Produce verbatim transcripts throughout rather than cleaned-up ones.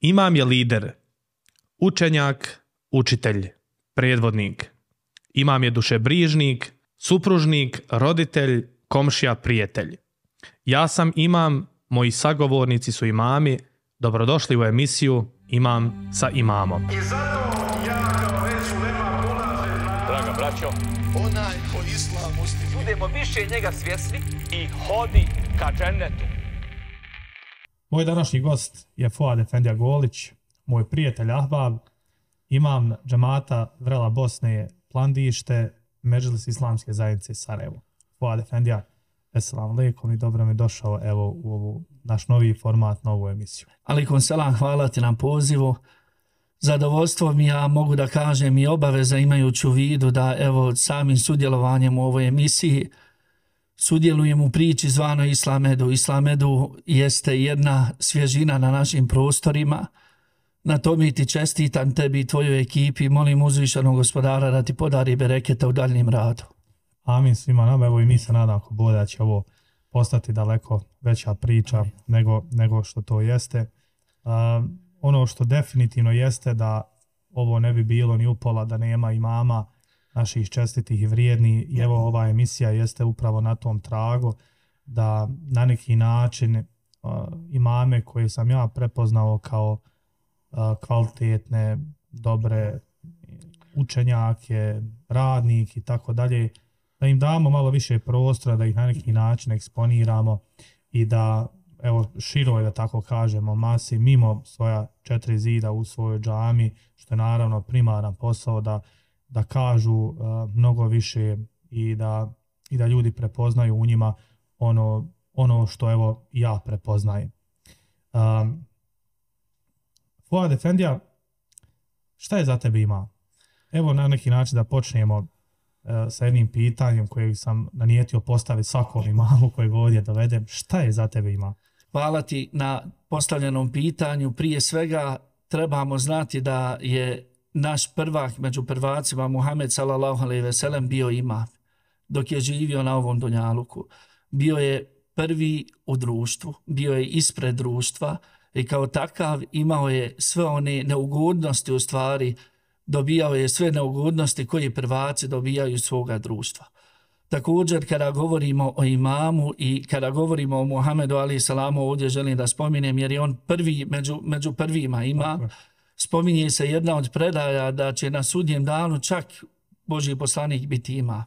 Imam je lider, učenjak, učitelj, predvodnik. Imam je dušebrižnik, supružnik, roditelj, komšija, prijatelj. Ja sam imam, moji sagovornici su imami. Dobrodošli u emisiju Imam sa imamom. I zato ja kao već ulema polažem na... Draga braćo, onaj ko islam ustiže. budemo više njega svjesni i hodi ka džennetu. Moj današnji gost je Fuad Efendija Golić, moj prijatelj Ahbab, imam džemata Vrela Bosne Plandište, Medžlis Islamske zajednice Sarajevo. Fuad Efendija, assalamu alaikum i dobro mi došao evo u ovu naš novi format, novu emisiju. Alaikum selam, hvala ti na pozivu. Zadovoljstvo mi ja mogu da kažem i obaveza imajući u vidu da evo samim sudjelovanjem u ovoj emisiji sudjelujem u priči zvanoj Islamedu. Islamedu jeste jedna svježina na našim prostorima. Na tome ti čestitam tebi i tvojoj ekipi. Molim uzvišenog gospodara da ti podari bereketa u daljnjem radu. Amin svima nama, evo i mi se nadam ako bude da će ovo postati daleko veća priča nego, nego što to jeste. Uh, ono što definitivno jeste da ovo ne bi bilo ni upola da nema imama naših čestitih i vrijednih i evo ova emisija jeste upravo na tom tragu da na neki način uh, imame koje sam ja prepoznao kao uh, kvalitetne, dobre učenjake, radnik i tako dalje, da im damo malo više prostora, da ih na neki način eksponiramo i da evo široj, da tako kažemo, masi mimo svoja četiri zida u svojoj džami, što je naravno primaran posao da, da kažu uh, mnogo više i da, i da ljudi prepoznaju u njima ono, ono što evo ja prepoznajem. Um, Fuad Efendija, šta je za tebe ima? Evo na neki način da počnemo sa jednim pitanjem kojeg sam nanijetio postaviti svakom imamu kojeg ovdje dovedem. Šta je za tebe ima? Hvala ti na postavljenom pitanju. Prije svega trebamo znati da je naš prvak među prvacima Muhammed sallallahu alejhi ve sellem bio imam dok je živio na ovom dunjaluku. Bio je prvi u društvu, bio je ispred društva i kao takav imao je sve one neugodnosti, u stvari dobijao je sve neugodnosti koje prvaci dobijaju iz svoga društva. Također kada govorimo o imamu i kada govorimo o Muhammedu alejhi salamu, ovdje želim da spominem jer je on prvi među, među prvima imam. Spominje se jedna od predaja da će na sudnjem danu čak Božji poslanik biti imam.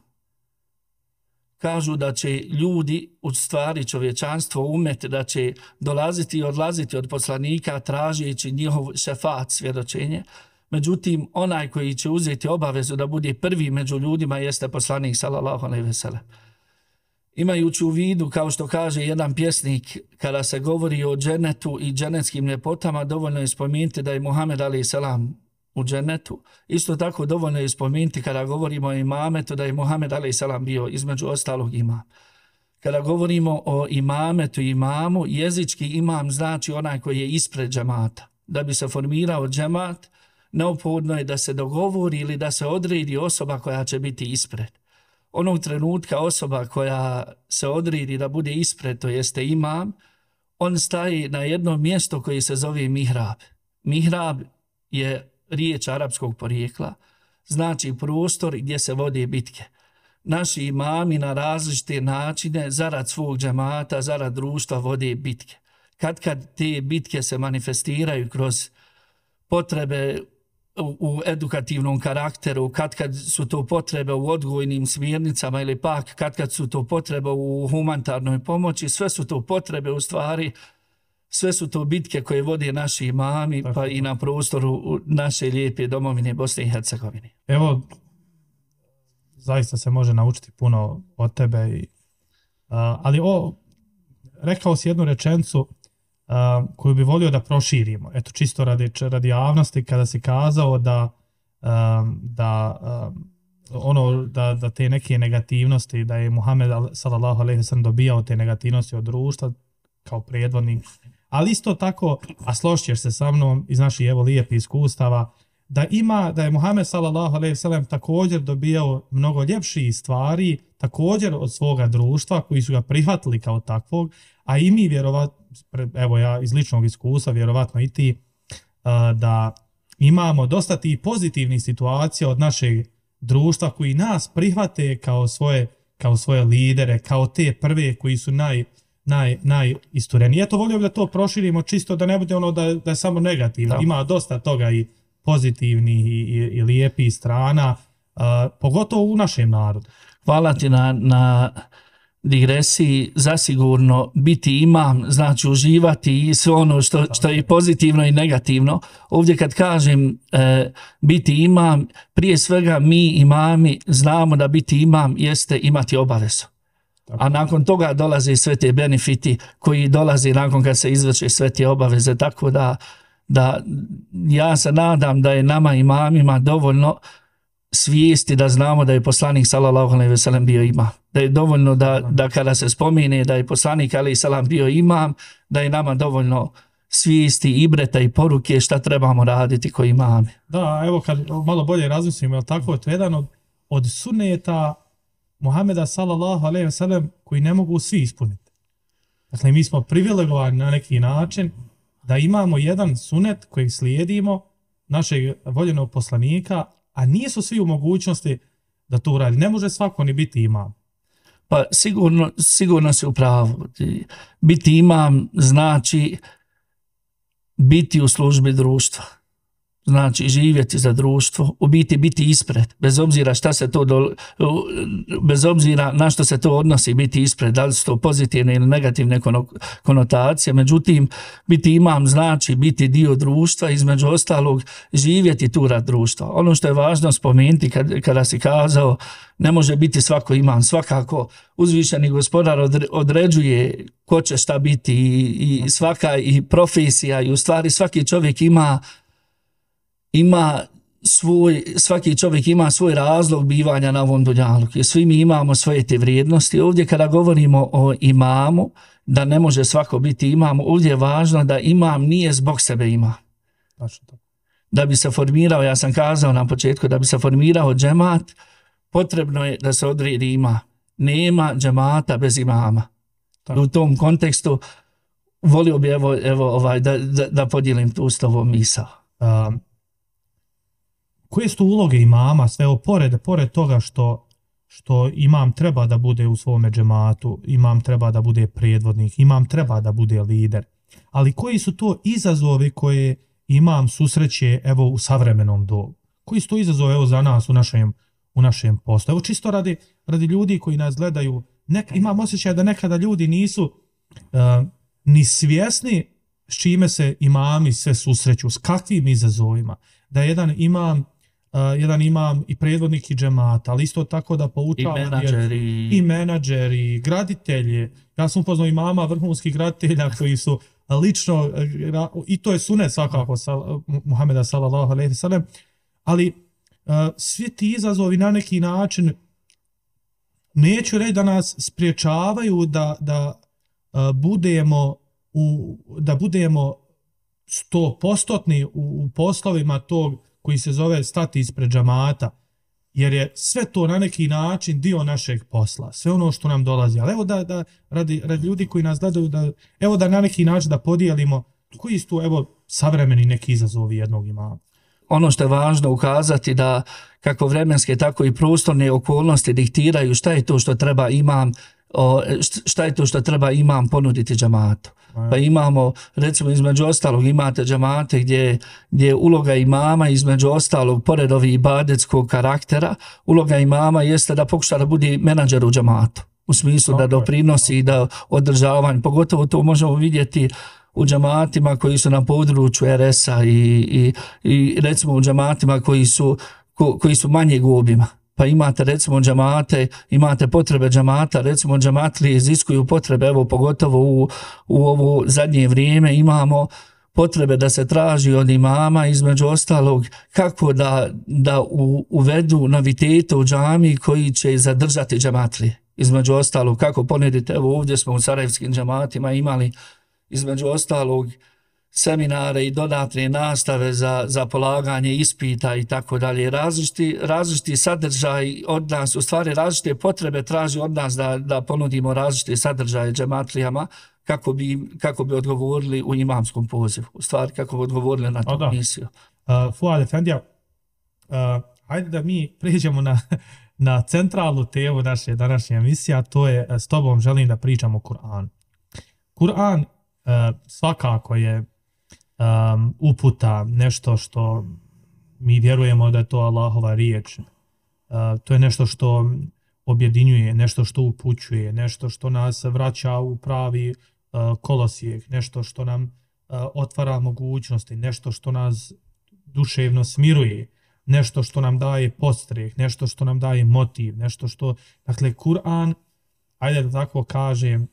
Kažu da će ljudi, u stvari čovječanstvo, umet, da će dolaziti i odlaziti od poslanika tražeći njihov šefat, svjedočenje. Međutim, onaj koji će uzeti obavezu da bude prvi među ljudima jeste poslanik sallallahu alejhi ve sellem. Imajući u vidu, kao što kaže jedan pjesnik, kada se govori o džennetu i džennetskim ljepotama, dovoljno je spomenuti da je Muhammed alejhi selam u džennetu. Isto tako dovoljno je spomenuti kada govorimo o imametu da je Muhammed alejhi selam bio između ostalog imam. Kada govorimo o imametu i imamu, jezički imam znači onaj koji je ispred džemata. Da bi se formirao džemat, neophodno je da se dogovori ili da se odredi osoba koja će biti ispred. Onog trenutka osoba koja se odredi da bude ispred, to jeste imam, on staje na jedno mjesto koje se zove mihrab. Mihrab je riječ arapskog porijekla, znači prostor gdje se vode bitke. Naši imami na različite načine zarad svog džemata, zarad društva vode bitke. Kad kad te bitke se manifestiraju kroz potrebe u edukativnom karakteru, kad kad su to potrebe u odgojnim smjernicama ili pak kad kad su to potrebe u humanitarnoj pomoći, sve su to potrebe u stvari, sve su to bitke koje vode naši imami pa i na prostoru naše lijepe domovine Bosne i Hercegovine. Evo, zaista se može naučiti puno od tebe, i, uh, ali o, rekao si jednu rečenicu Uh, koju bi volio da proširimo. Eto, čisto radi, radi javnosti, kada si kazao da, um, da, um, ono, da, da te neke negativnosti, da je Muhammed sallallahu alejhi ve sellem dobijao te negativnosti od društva kao predvodnik, ali isto tako, a složiš se sa mnom iz naših evo lijepih iskustava, da ima, da je Muhammed sallallahu alejhi ve sellem također dobijao mnogo ljepših stvari, također od svoga društva koji su ga prihvatili kao takvog, a i mi vjerovatno, evo ja iz ličnog iskustva, vjerovatno i ti, da imamo dosta tih pozitivnih situacija od našeg društva koji nas prihvate kao svoje, kao svoje lidere, kao te prve koji su naj, naj, najistureni. Eto, volio bih da to proširimo čisto da ne bude ono da, da je samo negativno. Da. Ima dosta toga i pozitivnih i, i, i lijepih strana, uh, pogotovo u našem narodu. Hvala ti na, na digresiji. Zasigurno biti imam znači uživati i sve ono što, što je pozitivno i negativno. Ovdje kad kažem e, biti imam, prije svega mi imami znamo da biti imam jeste imati obavezu. A nakon toga dolaze sve te benefiti koji dolaze nakon kad se izvrše sve te obaveze. Tako da, da ja se nadam da je nama imamima dovoljno svijesti da znamo da je poslanik sallallahu alejhi ve sellem bio imam. Da je dovoljno da, da kada se spomene da je poslanik alejhi selam bio imam, da je nama dovoljno svijesti, ibreta i poruke šta trebamo raditi koji imami. Da, evo kad malo bolje razmislimo, je tako, to je jedan od, od sunneta Muhameda sallallahu alejhi ve sellem koji ne mogu svi ispuniti. Dakle, mi smo privilegovani na neki način da imamo jedan sunet koji slijedimo našeg voljenog poslanika, a nisu svi u mogućnosti da to uradi. Ne može svako ni biti imam. Pa sigurno, sigurno se u pravu. Biti imam znači biti u službi društva. Znači živjeti za društvo, u biti biti ispred, bez obzira šta se to do, bez obzira na što se to odnosi, biti ispred, da li su to pozitivne ili negativne konotacije. Međutim, biti imam znači biti dio društva, između ostalog živjeti tu rad društva. Ono što je važno spomenuti kad, kada si kazao ne može biti svako imam, svakako uzvišeni gospodar određuje ko će šta biti i, i svaka i profesija i u stvari svaki čovjek ima ima svoj, svaki čovjek ima svoj razlog bivanja na ovom dunjaluku i svi mi imamo svoje te vrijednosti. Ovdje kada govorimo o imamu, da ne može svako biti imam, ovdje je važno da imam nije zbog sebe imam. Da bi se formirao, ja sam kazao na početku, da bi se formirao džemat, potrebno je da se odredi ima. Nema džemata bez imama. Tako. U tom kontekstu volio bi evo, evo ovaj, da, da, da podijelim tu s tobom misao. Um. Koje su uloge imama, sve ovo, pored, pored toga što, što imam treba da bude u svome džematu, imam treba da bude predvodnik, imam treba da bude lider, ali koji su to izazovi koje imam susreće evo u savremenom dobu? Koji su to izazovi evo za nas u našem, u našem poslu? Evo čisto radi, radi ljudi koji nas gledaju, nek, imam osjećaj da nekada ljudi nisu uh, ni svjesni s čime se imami sve susreću, s kakvim izazovima, da jedan imam Uh, jedan imam i predvodnik i džemata, ali isto tako da poučava i menadžeri, i menadžeri, graditelji. Ja sam upoznao imama vrhunskih graditelja koji su lično, i to je sunet svakako Muhameda sallallahu alejhi ve sellem, ali uh, svi ti izazovi na neki način neću reći da nas spriječavaju da, da uh, budemo u, da budemo sto postotni u, u poslovima tog koji se zove stati ispred džamata, jer je sve to na neki način dio našeg posla, sve ono što nam dolazi. Ali evo da, da radi, radi ljudi koji nas gledaju, da, evo da na neki način da podijelimo koji su evo savremeni neki izazovi jednog imama. Ono što je važno ukazati da kako vremenske, tako i prostorne okolnosti diktiraju šta je to što treba imam, šta je to što treba imam ponuditi džamatu. Pa imamo, recimo između ostalog, imate džamate gdje, gdje je uloga imama između ostalog, pored ovih ibadetskog karaktera, uloga imama jeste da pokuša da bude menadžer u džamatu. U smislu da doprinosi i da održavanje, pogotovo to možemo vidjeti u džamatima koji su na području er es-a i, i, i recimo u džamatima koji su, ko, koji su manjeg obima. Pa imate recimo džamate, imate potrebe džamata, recimo džamatlije iziskuju potrebe, evo pogotovo u, u ovo zadnje vrijeme imamo potrebe da se traži od imama između ostalog kako da, da u, uvedu novitete u džami koji će zadržati džamatlije. Između ostalog kako ponedite, evo ovdje smo u sarajevskim džamatima imali između ostalog seminare i dodatne nastave za, za polaganje ispita i tako dalje. Različiti, različiti sadržaj od nas, u stvari različite potrebe traži od nas da, da ponudimo različite sadržaje džematlijama kako bi, kako bi odgovorili u imamskom pozivu. U stvari kako bi odgovorili na tu misiju. Uh, Fuad Efendija, uh, hajde da mi prijeđemo na, na centralnu temu naše današnje emisije, a to je s tobom želim da pričamo o Kur'anu. Kur'an uh, svakako je um, uputa, nešto što mi vjerujemo da je to Allahova riječ. Uh, to je nešto što objedinjuje, nešto što upućuje, nešto što nas vraća u pravi uh, kolosijek, nešto što nam uh, otvara mogućnosti, nešto što nas duševno smiruje, nešto što nam daje podstreh, nešto što nam daje motiv, nešto što, dakle, Kur'an, ajde da tako kažem,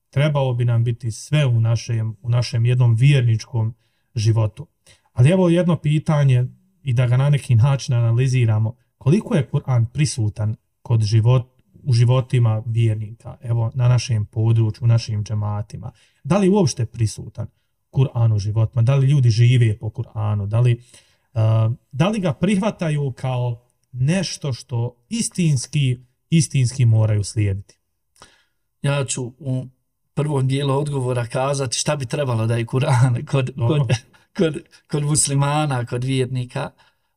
trebao bi nam biti sve u našem, u našem jednom vjerničkom životu. Ali evo jedno pitanje i da ga na neki način analiziramo. Koliko je Kur'an prisutan kod život, u životima vjernika, evo na našem području, u našim džematima? Da li uopšte prisutan Kur'an u životima? Da li ljudi žive po Kur'anu? Da li, uh, da li ga prihvataju kao nešto što istinski, istinski moraju slijediti? Ja ću u prvom dijelu odgovora kazati šta bi trebalo da je Kur'an kod, kod, kod, kod muslimana, kod vjernika,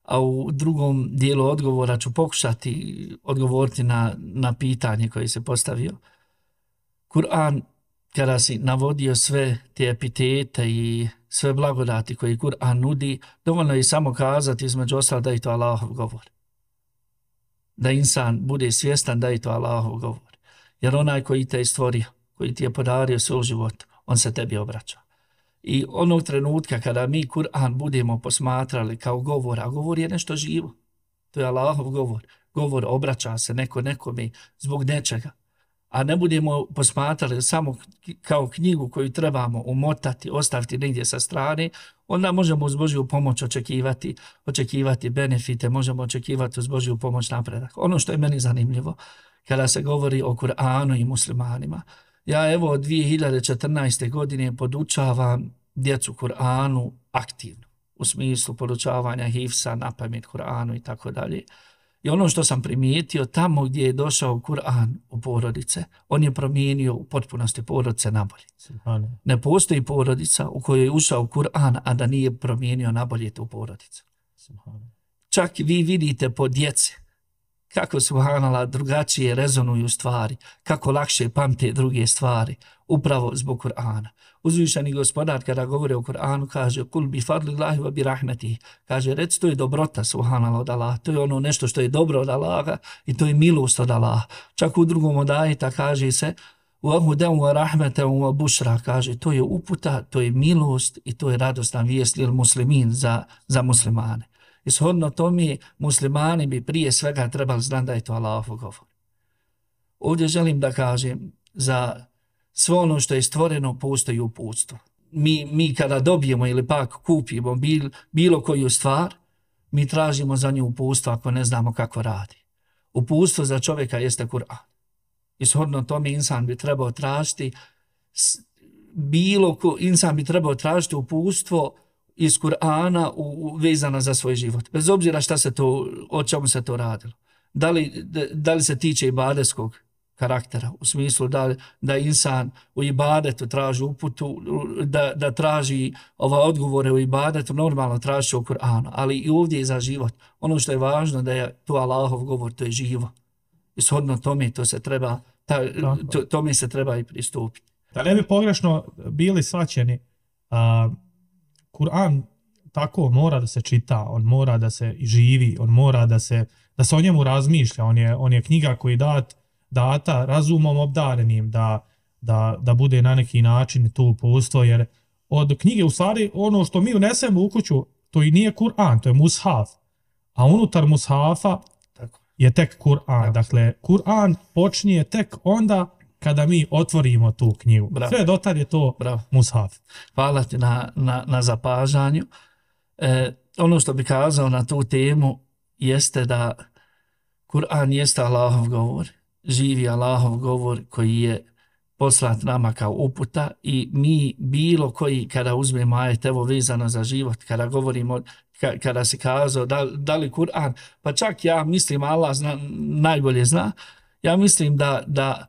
a u drugom dijelu odgovora ću pokušati odgovoriti na, na pitanje koje se postavio. Kur'an, kada si navodio sve te epitete i sve blagodati koje Kur'an nudi, dovoljno je samo kazati između ostalo da je to Allahov govor. Da insan bude svjestan da je to Allahov govor. Jer onaj koji te je stvorio, koji ti je podario svoj život, on se tebi obraća. I onog trenutka kada mi Kur'an budemo posmatrali kao govor, a govor je nešto živo, to je Allahov govor, govor obraća se neko nekome zbog nečega, a ne budemo posmatrali samo kao knjigu koju trebamo umotati, ostaviti negdje sa strane, onda možemo uz Božju pomoć očekivati, očekivati benefite, možemo očekivati uz Božju pomoć napredak. Ono što je meni zanimljivo, kada se govori o Kur'anu i muslimanima, ja evo od dvije hiljade četrnaeste. godine podučavam djecu Kur'anu aktivno, u smislu podučavanja hifsa, napamet Kur'anu i tako dalje. I ono što sam primijetio, tamo gdje je došao Kur'an u porodice, on je promijenio u potpunosti porodice nabolje. Ne postoji porodica u kojoj je ušao Kur'an, a da nije promijenio nabolje tu porodicu. Čak vi vidite po djece kako subhanallah drugačije rezonuju stvari, kako lakše pamte druge stvari, upravo zbog Kur'ana. Uzvišeni gospodar kada govori o Kur'anu kaže kul bi fadlillahi wa bi rahmetihi, kaže reci to je dobrota subhanallah od Allaha, to je ono nešto što je dobro od Allaha i to je milost od Allaha. Čak u drugom od ajeta kaže se wa hudan wa rahmatan wa bushra, kaže to je uputa, to je milost i to je radosna vijest lil muslimin, za, za muslimane. Ishodno tome muslimani bi prije svega trebali znati da je to Allahov govor. Ovdje želim da kažem, za sve ono što je stvoreno postoji uputstvo. Mi, mi kada dobijemo ili pak kupimo bil, bilo koju stvar, mi tražimo za nju uputstvo ako ne znamo kako radi. Uputstvo za čovjeka jeste Kur'an. Ishodno tome insan bi trebao tražiti bilo ko, insan bi trebao tražiti uputstvo iz Kur'ana vezana za svoj život. Bez obzira šta se to, o čemu se to radilo. Da li, da, da li se tiče ibadetskog karaktera, u smislu da, da insan u ibadetu traži uputu, da, da traži ova odgovore u ibadetu, normalno traži u Kur'anu, ali i ovdje je za život. Ono što je važno da je to Allahov govor, to je živo. I shodno tome to se treba, ta, to, tome se treba i pristupiti. Da ne bi pogrešno bili svaćeni, a, Kur'an tako mora da se čita, on mora da se živi, on mora da se, da se o njemu razmišlja, on je, on je knjiga koji dat, data razumom obdarenim da, da, da bude na neki način to uputstvo, jer od knjige u stvari ono što mi unesemo u kuću, to i nije Kur'an, to je mushaf, a unutar mushafa tako je tek Kur'an. Dakle, Kur'an počinje tek onda kada mi otvorimo tu knjigu. Bravo. Sve dotad je to Bravo. mushaf. Hvala ti na, na, na zapažanju. E, ono što bi kazao na tu temu jeste da Kur'an jeste Allahov govor, živi Allahov govor koji je poslat nama kao uputa i mi bilo koji kada uzmemo ajet, evo vezano za život, kada govorimo, kada se kazao da, da li Kur'an, pa čak ja mislim, Allah zna, najbolje zna, ja mislim da, da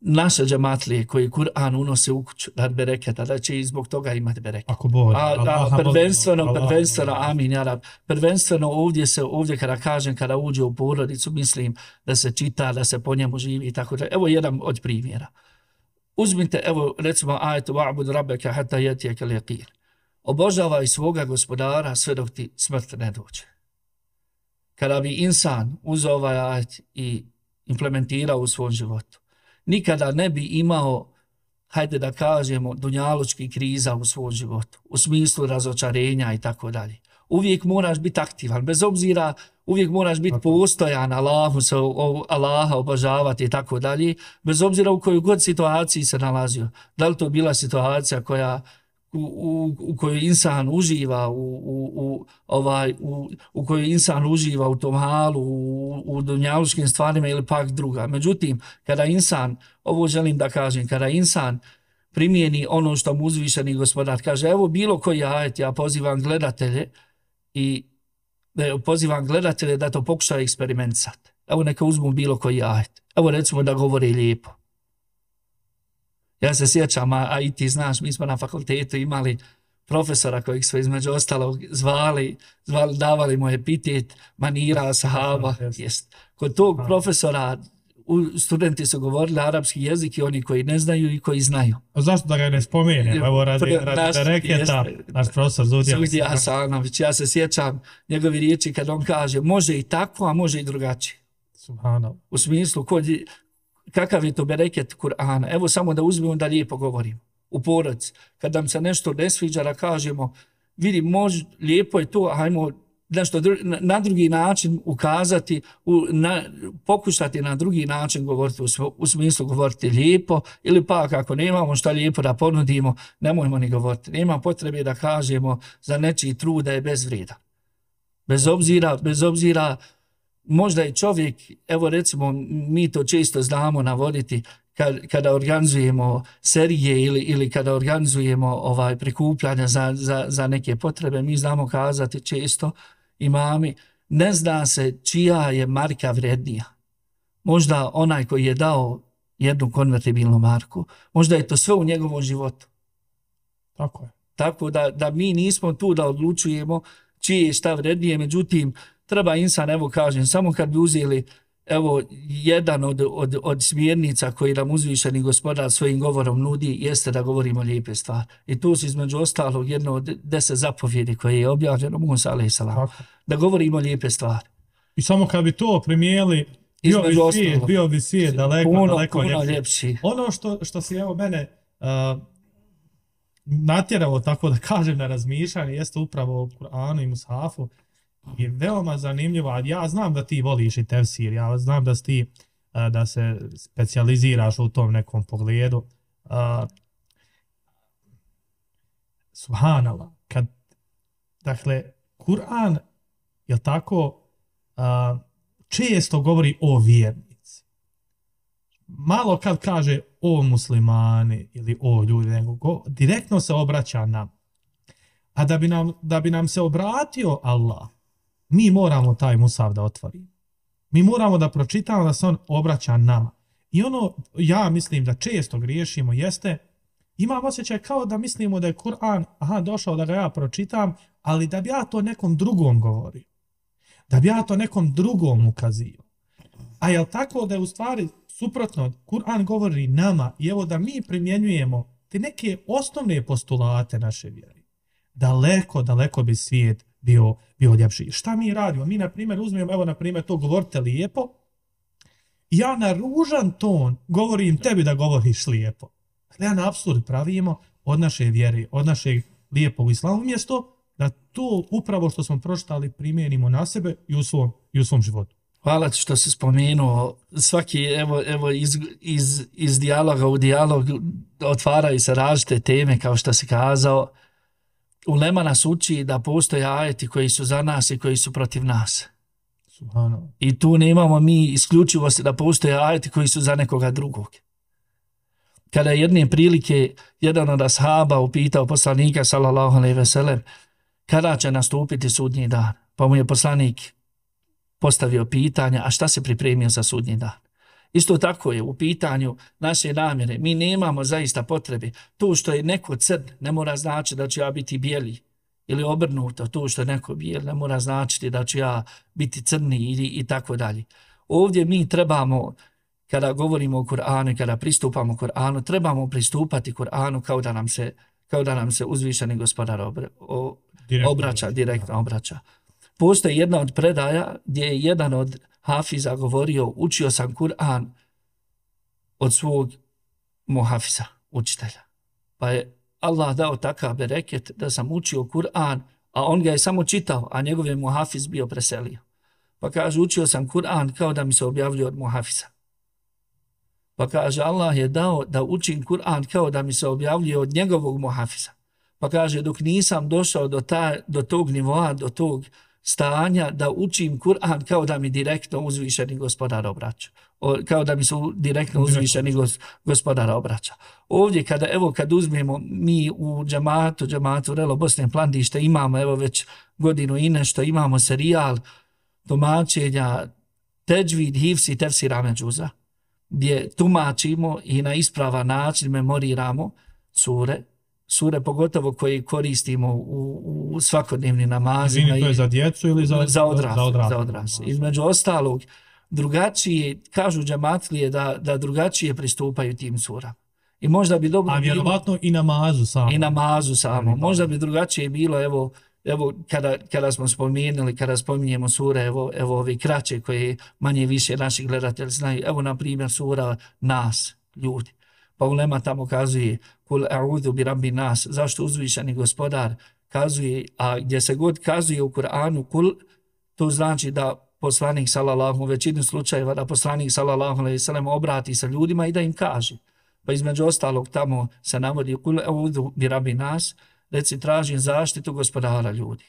naše džematlije koji Kur'an unose u kuću rad bereketa, da će i zbog toga imati bereket. Ako Bog, a, a prvenstveno, prvenstveno, amin, ja rab, prvenstveno ovdje se, ovdje kada kažem, kada uđe u porodicu, mislim da se čita, da se po njemu živi i tako da. Evo jedan od primjera. Uzmite, evo recimo ajetu wa'bud rabbeka hatta yatiyakal yaqin. Obožavaj svoga gospodara sve dok ti smrt ne dođe. Kada bi insan uzeo ovaj ajet i implementirao u svom životu, nikada ne bi imao, hajde da kažemo, dunjalučki kriza u svom životu, u smislu razočarenja i tako dalje. Uvijek moraš biti aktivan, bez obzira, uvijek moraš biti postojan, Allahu se, Allaha obožavati i tako dalje, bez obzira u kojoj god situaciji se nalazio. Da li to bila situacija koja U, u, u kojoj insan uživa u, u, u, ovaj, u, u kojoj insan uživa u tom halu, u, u dunjaluškim stvarima ili pak druga. Međutim, kada insan, ovo želim da kažem, kada insan primijeni ono što mu uzvišeni gospodar kaže, evo bilo koji ajet, ja pozivam gledatelje i ne, pozivam gledatelje da to pokušaju eksperimentisati. Evo neka uzmu bilo koji ajet. Evo recimo da govori lijepo. Ja se sjećam, a, a i ti znaš, mi smo na fakultetu imali profesora kojeg smo između ostalog zvali, zvali davali mu epitet manira sahaba. Jest. Kod tog profesora u, studenti su govorili arapski jezik i oni koji ne znaju i koji znaju. A zašto da ga ne spomenem? Evo radi, radi reketa, naš profesor Zudija. Zudija Hasanović, ja se sjećam njegovi riječi kad on kaže može i tako, a može i drugačije. Subhanallah. U smislu kod kakav je to bereket Kur'ana. Evo samo da uzmemo da lijepo govorimo. U porodici, kad nam se nešto ne sviđa, da kažemo, vidi, mož, lijepo je to, hajmo nešto na, na drugi način ukazati, u, na, pokušati na drugi način govoriti, u, u smislu govoriti lijepo, ili pa ako nemamo šta lijepo da ponudimo, nemojmo ni govoriti. Nema potrebe da kažemo za nečiji trud da je bezvrijedan. Bez obzira, bez obzira, možda je čovjek, evo recimo, mi to često znamo navoditi, kad, kada organizujemo serije ili, ili kada organizujemo ovaj prikupljanja za, za, za neke potrebe, mi znamo kazati često imami, ne zna se čija je marka vrednija. Možda onaj koji je dao jednu konvertibilnu marku, možda je to sve u njegovom životu. Tako je. Tako da, da mi nismo tu da odlučujemo čije je šta vrednije, međutim, treba insan, evo kažem, samo kad bi uzeli evo jedan od, od, od smjernica koji nam uzvišeni gospodar svojim govorom nudi, jeste da govorimo lijepe stvari. I tu su između ostalog jedno od deset zapovjedi koje je objavljeno Musa alejhi selam. Da govorimo lijepe stvari. I samo kad bi to primijeli, bio bi svijet, bio bi svijet daleko, puno, daleko puno ljepši. ljepši. Ono što, što si evo mene uh, natjeralo, tako da kažem, na razmišljanje, jeste upravo o Kur'anu i Mushafu. Je veoma zanimljivo, a ja znam da ti voliš i tefsir, ja znam da ti da se specijaliziraš u tom nekom pogledu. Uh, subhanallah, kad, dakle, Kur'an, je tako, uh, često govori o vjernici. Malo kad kaže o muslimani ili o ljudi, nego go, direktno se obraća nam. A da bi nam, da bi nam se obratio Allah, mi moramo taj Musaf da otvorimo. Mi moramo da pročitamo da se on obraća nama. I ono, ja mislim da često griješimo, jeste, imam osjećaj kao da mislimo da je Kur'an, aha, došao da ga ja pročitam, ali da bi ja to nekom drugom govorio. Da bi ja to nekom drugom ukazio. A je li tako da je u stvari suprotno, Kur'an govori nama i evo da mi primjenjujemo te neke osnovne postulate naše vjere. Daleko, daleko bi svijet bio, bio ljepši. Šta mi radimo? Mi, na primjer, uzmemo, evo, na primjer, to govorite lijepo. Ja na ružan ton govorim tebi da govoriš lijepo. Ja na apsurd pravimo od naše vjere, od našeg lijepog islama, umjesto da to upravo što smo pročitali primijenimo na sebe i u svom, i u svom životu. Hvala ti što si spomenuo. Svaki, evo, evo iz, iz, iz dijaloga u dijalog otvaraju se različite teme, kao što si kazao. Ulema nas uči da postoje ajeti koji su za nas i koji su protiv nas. Subhanallah. I tu nemamo mi isključivosti da postoje ajeti koji su za nekoga drugog. kada je jedne prilike jedan od ashaba upitao poslanika sallallahu alejhi ve sellem kada će nastupiti sudnji dan. Pa mu je poslanik postavio pitanje, a šta se pripremio za sudnji dan. Isto tako je u pitanju naše namjere. Mi nemamo zaista potrebe. To što je neko crn ne mora znači da ću ja biti bijeli. Ili obrnuto, to što je neko bijel ne mora značiti da ću ja biti crni i, i tako dalje. Ovdje mi trebamo, kada govorimo o Kur'anu i kada pristupamo Kur'anu, trebamo pristupati Kur'anu kao da nam se, kao da nam se uzvišeni gospodar obra, o, direktno obraća, direktno obraća. Postoji jedna od predaja gdje je jedan od hafiza govorio, učio sam Kur'an od svog muhafiza, učitelja. Pa je Allah dao takav bereket da sam učio Kur'an, a on ga je samo čitao, a njegov je muhafiz bio preselio. Pa kaže, učio sam Kur'an kao da mi se objavljuje od muhafiza. Pa kaže, Allah je dao da učim Kur'an kao da mi se objavljuje od njegovog muhafiza. Pa kaže, dok nisam došao do, ta, do tog nivoa, do tog stanja da učim Kur'an kao da mi direktno uzvišeni gospodar obraća. O, kao da mi se direktno uzvišeni gos, gospodar obraća. Ovdje kada, evo kad uzmemo mi u džamatu, džamatu Relo Bosne Plandište, imamo evo već godinu i nešto, imamo serijal tumačenja Teđvid, Hifs i Tefsir Ahmed Džuza, gdje tumačimo i na ispravan način memoriramo sure, sure pogotovo koje koristimo u, u svakodnevnim namazima. Izvini, to je za djecu ili za, za odrasle? Za odrasle. Za odrasle. Između ostalog, drugačije, kažu džamatlije da, da drugačije pristupaju tim surama. I možda bi dobro A vjerovatno bilo, i namazu samo. I namazu samo. Možda bi drugačije bilo, evo, evo kada, kada smo spomenuli, kada spominjemo sure, evo, evo ove kraće koje manje više naši gledatelji znaju. Evo, na primjer, sura Nas, ljudi. Pa ulema tamo kazuje kul a'udhu bi rabbi nas, zašto uzvišeni gospodar kazuje, a gdje se god kazuje u Kur'anu kul, to znači da poslanik sallallahu u većini slučajeva da poslanik sallallahu alejhi ve sellem obrati se ljudima i da im kaže. Pa između ostalog tamo se navodi kul a'udhu bi rabbi nas, reci tražim zaštitu gospodara ljudi,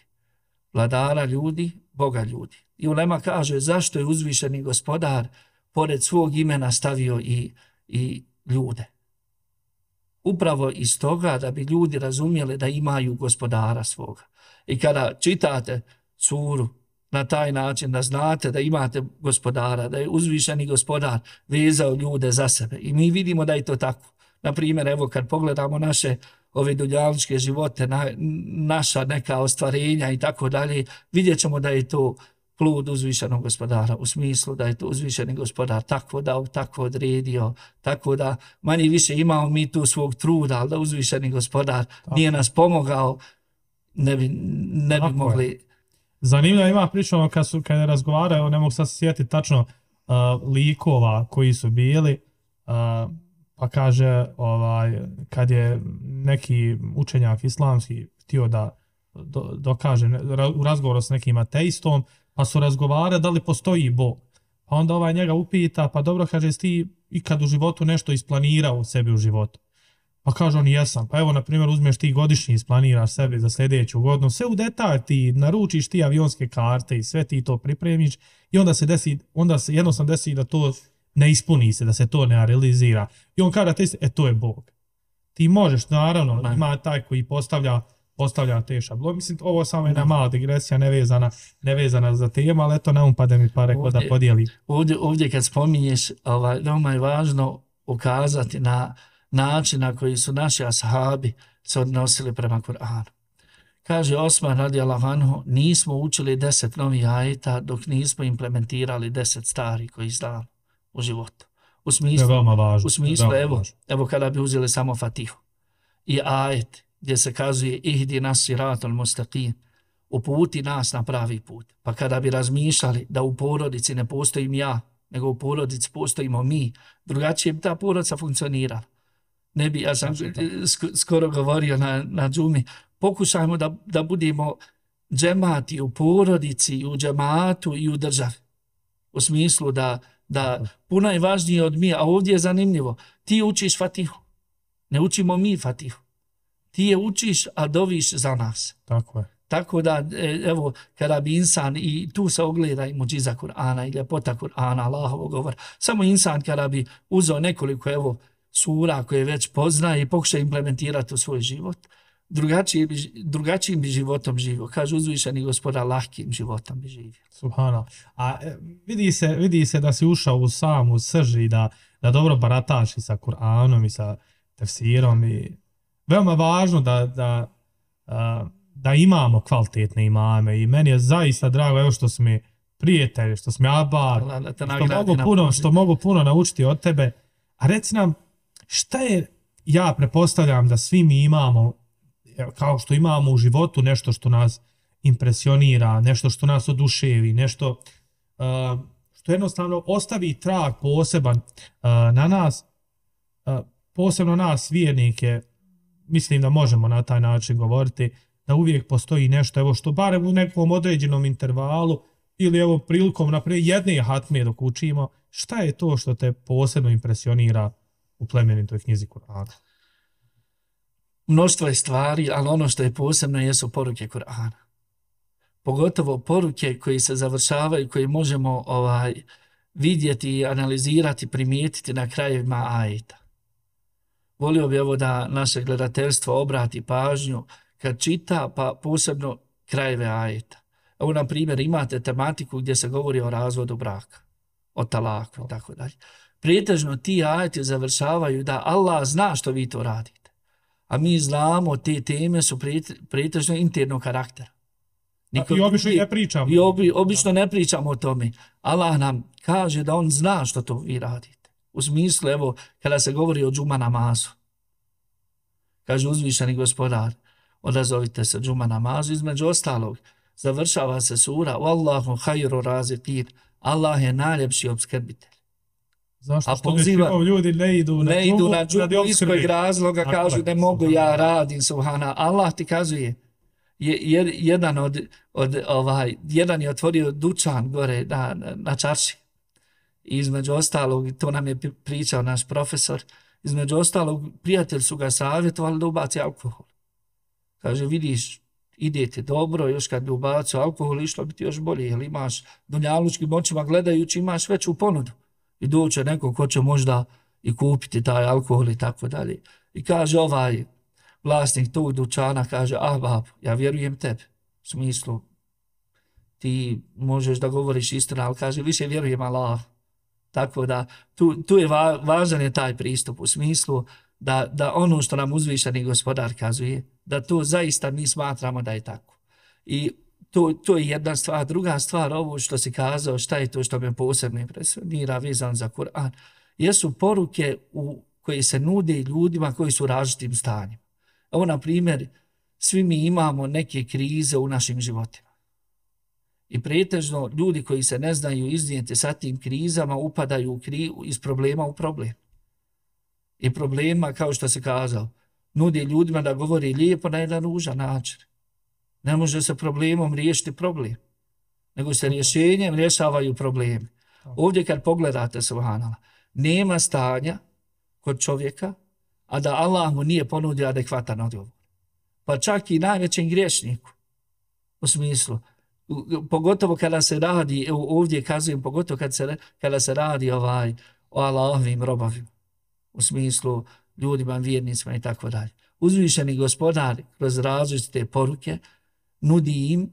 vladara ljudi, Boga ljudi. I ulema kaže zašto je uzvišeni gospodar pored svog imena stavio i, i ljude. Upravo iz toga da bi ljudi razumjeli da imaju gospodara svoga. I kada čitate suru na taj način da znate da imate gospodara, da je uzvišeni gospodar vezao ljude za sebe. I mi vidimo da je to tako. Naprimjer, evo kad pogledamo naše ove dunjaličke živote, na, naša neka ostvarenja i tako dalje, vidjet ćemo da je to plod uzvišenog gospodara, u smislu da je to uzvišeni gospodar tako dao, tako odredio, tako da manje više imamo mi tu svog truda, ali da uzvišeni gospodar tako nije nas pomogao, ne bi, ne bi mogli... Je. Zanimljivo ima priča ono kad, su, kad je razgovarao, ne mogu sad se sjetiti tačno uh, likova koji su bili, uh, pa kaže ovaj, kad je neki učenjak islamski htio da do, dokaže u razgovoru s nekim ateistom, pa su razgovarali da li postoji Bog. Pa onda ovaj njega upita, pa dobro, kaže, jesi ti ikad u životu nešto isplanirao u sebi u životu? Pa kaže on, jesam. Pa evo, na primjer, uzmeš ti godišnji, isplaniraš sebi za sljedeću godinu, sve u detalj ti, naručiš ti avionske karte i sve ti to pripremiš i onda se desi, onda se jednostavno desi da to ne ispuni se, da se to ne realizira. I on kaže, e, to je Bog. Ti možeš, naravno, ima taj koji postavlja postavlja te šablone. Mislim, ovo samo je jedna mala digresija, nevezana, nevezana za temu, ali eto, ne upade mi pa rekao da podijeli. Ovdje, ovdje kad spominješ, ovaj, veoma je važno ukazati na način na koji su naši ashabi se odnosili prema Kur'anu. Kaže Osman radijallahu anhu, nismo učili deset novih ajeta dok nismo implementirali deset stari koji znamo u životu. U smislu, važno, u smislu evo, evo kada bi uzeli samo Fatihu i ajet gdje se kazuje ihdi nas siratul mustaqim, uputi nas na pravi put. Pa kada bi razmišljali da u porodici ne postojim ja, nego u porodici postojimo mi, drugačije bi ta porodica funkcionirala. Ne bi, ja sam skoro govorio na, na džumi, pokušajmo da, da budemo džemati u porodici, u džematu i u državi. U smislu da, da puno je važnije od mi, a ovdje je zanimljivo, ti učiš Fatihu, ne učimo mi Fatihu. Ti je učiš, a doviš za nas. Tako je. Tako da, evo, kada bi insan, i tu se ogleda i muđiza Kur'ana i ljepota Kur'ana, Allahovog govora, samo insan kada bi uzeo nekoliko, evo, sura koje već poznaje i pokuša implementirati u svoj život, drugačijim bi, drugačijim bi životom živio. Kaže uzvišeni Gospodar, lahkim životom bi živio. Subhana. A vidi se, vidi se da si ušao u samu srž i da, da dobro barataš i sa Kur'anom i sa tefsirom i veoma važno da, da, da imamo kvalitetne imame i meni je zaista drago evo što su mi prijatelji, što su mi abar, što mogu, puno, što mogu puno naučiti od tebe. A reci nam, šta je, ja prepostavljam da svi mi imamo, kao što imamo u životu nešto što nas impresionira, nešto što nas oduševi, nešto uh, što jednostavno ostavi trag poseban uh, na nas, uh, posebno nas vjernike, mislim da možemo na taj način govoriti, da uvijek postoji nešto, evo što barem u nekom određenom intervalu ili evo prilikom naprijed jedne hatme dok učimo, šta je to što te posebno impresionira u plemenitoj knjizi Kur'ana? Mnoštvo je stvari, ali ono što je posebno jesu poruke Kur'ana. Pogotovo poruke koji se završavaju, koji možemo ovaj vidjeti, analizirati, primijetiti na krajevima ajeta. Volio bi ovo da naše gledateljstvo obrati pažnju kad čita, pa posebno krajeve ajeta. Evo, na primjer, imate tematiku gdje se govori o razvodu braka, o talaku i tako dalje. Prijetežno ti ajeti završavaju da Allah zna što vi to radite. A mi znamo, te teme su prijetežno internog karaktera. Niko, I obično ne pričamo. I obi, obično ne pričamo o tome. Allah nam kaže da on zna što to vi radite. U smislu, evo, kada se govori o džuma namazu. Kaže uzvišeni Gospodar, odazovite se džuma namazu, između ostalog, završava se sura Wallahu khayru raziqin. Allah je najljepši opskrbitelj. Zašto? A poziva, ljudi ne idu na ne idu na džumu iz kojeg razloga, kažu ne mogu, ja radim, subhana. Allah ti kazuje, je, je, jedan, od, od, ovaj, jedan je otvorio dućan gore na, na, na čarši. I između ostalog, to nam je pričao naš profesor, između ostalog, prijatelj su ga savjetovali da ubaci alkohol. Kaže, vidiš, idete dobro, još kad bi ubacio alkohol, išlo bi ti još bolje, jer imaš dunjalučkim očima gledajući, imaš veću ponudu. I doće neko ko će možda i kupiti taj alkohol i tako dalje. I kaže ovaj vlasnik tog dućana, kaže, ah babo, ja vjerujem tebi. U smislu, ti možeš da govoriš istinu, ali kaže, više vjerujem Allah. Tako da, tu, tu je va, važan je taj pristup u smislu da, da ono što nam uzvišeni Gospodar kazuje, da to zaista mi smatramo da je tako. I to, to je jedna stvar. Druga stvar, ovo što si kazao, šta je to što me posebno impresionira vezan za Kur'an, jesu poruke u koje se nude ljudima koji su u različitim stanjima. Evo, na primjer, svi mi imamo neke krize u našim životima. I pretežno ljudi koji se ne znaju iznijeti sa tim krizama upadaju u kri, iz problema u problem. I problema, kao što se kazao, nudi ljudima da govori lijepo na jedan ružan način. Ne može se problemom riješiti problem, nego se rješenjem rješavaju problemi. Ovdje kad pogledate, subhanallah, nema stanja kod čovjeka, a da Allah mu nije ponudio adekvatan odgovor. Pa čak i najvećem griješniku, u smislu, pogotovo kada se radi, ovdje kazujem, pogotovo kada se, kada se radi ovaj, o Allahovim robovima, u smislu ljudima, vjernicima i tako dalje. Uzvišeni Gospodar kroz različite poruke nudi im,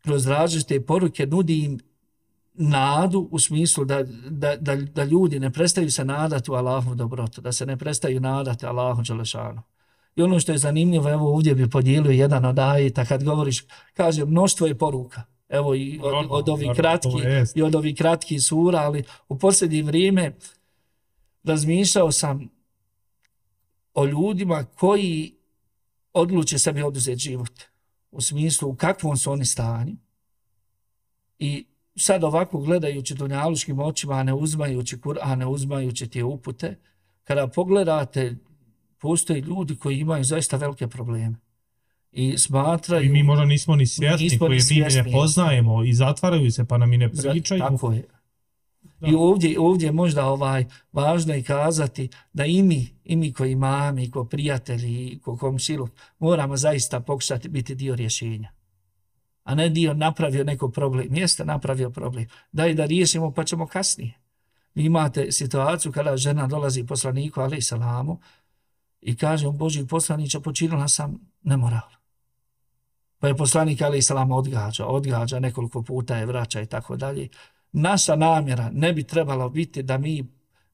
kroz različite poruke nudi im nadu u smislu da, da, da, da ljudi ne prestaju se nadati u Allahu dobrotu, da se ne prestaju nadati Allahu dželešanu. I ono što je zanimljivo, evo ovdje bi podijelio jedan od ajeta, kad govoriš, kaže, mnoštvo je poruka. Evo i od, od ovih kratki, i od ovih kratki sura, ali u posljednje vrijeme razmišljao sam o ljudima koji odluče sebi oduzeti život. U smislu u kakvom su oni stanju. I sad ovako gledajući dunjaluškim očima, ne uzmajući Kur'an, ne uzmajući te upute, kada pogledate, postoje ljudi koji imaju zaista velike probleme. I smatraju... I mi možda nismo ni svjesni, nismo koji mi ne poznajemo i zatvaraju se pa nam i ne pričaju. Tako je. Da. I ovdje, ovdje možda ovaj, važno je kazati da i mi, i mi koji mami, ko prijatelji, i ko komšilu, moramo zaista pokušati biti dio rješenja. A ne dio napravio neko problem. Jeste napravio problem. Daj da riješimo pa ćemo kasnije. Vi imate situaciju kada žena dolazi poslaniku alejhi selamu i kaže on Božji poslaniče počinila sam nemoral. Pa je poslanik alejhi selam odgađa, odgađa nekoliko puta je vraća i tako dalje. Naša namjera ne bi trebalo biti da mi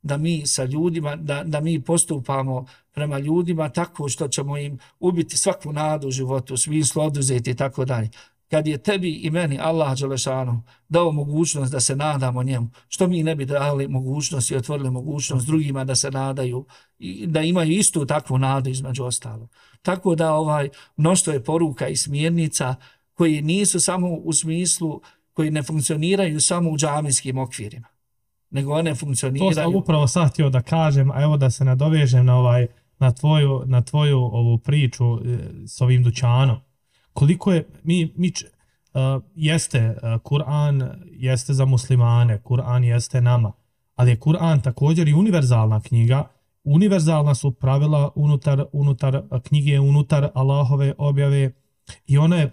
da mi sa ljudima, da, da mi postupamo prema ljudima tako što ćemo im ubiti svaku nadu u životu, u smislu oduzeti i tako dalje. Kad je tebi i meni Allah dželešanu dao mogućnost da se nadamo njemu, što mi ne bi dali mogućnost i otvorili mogućnost drugima da se nadaju i da imaju istu takvu nadu između ostalog. Tako da ovaj mnoštvo je poruka i smjernica koji nisu samo u smislu, koji ne funkcioniraju samo u džamijskim okvirima, nego one funkcioniraju. To sam upravo sad htio da kažem, a evo da se nadovežem na ovaj na tvoju na tvoju ovu priču s ovim dućanom. Koliko je mi mi uh, jeste uh, Kur'an jeste za muslimane, Kur'an jeste nama, ali je Kur'an također i univerzalna knjiga. Univerzalna su pravila unutar unutar knjige, unutar Allahove objave i ona je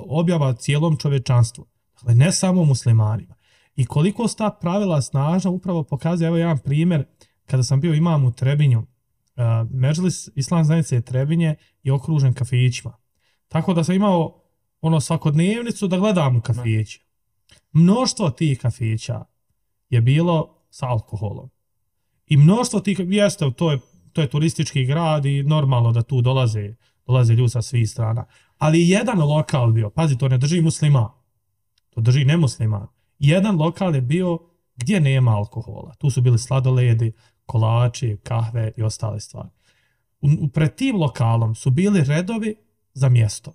objava cijelom čovječanstvu. Dakle, ne samo muslimanima. I koliko su ta pravila snažna upravo pokazuje, evo jedan primjer, kada sam bio imam u Trebinju, uh, Medžlis Islam zajednice Trebinje je okružen kafićima. Tako da sam imao ono svakodnevnicu da gledam u kafiće. Mnoštvo tih kafića je bilo sa alkoholom. I mnoštvo tih, jeste, to je, to je turistički grad i normalno da tu dolaze, dolaze ljudi sa svih strana. Ali jedan lokal bio, pazi, to ne drži musliman, to drži nemusliman. Jedan lokal je bio gdje nema alkohola. Tu su bili sladoledi, kolači, kahve i ostale stvari. U, pred tim lokalom su bili redovi za mjesto.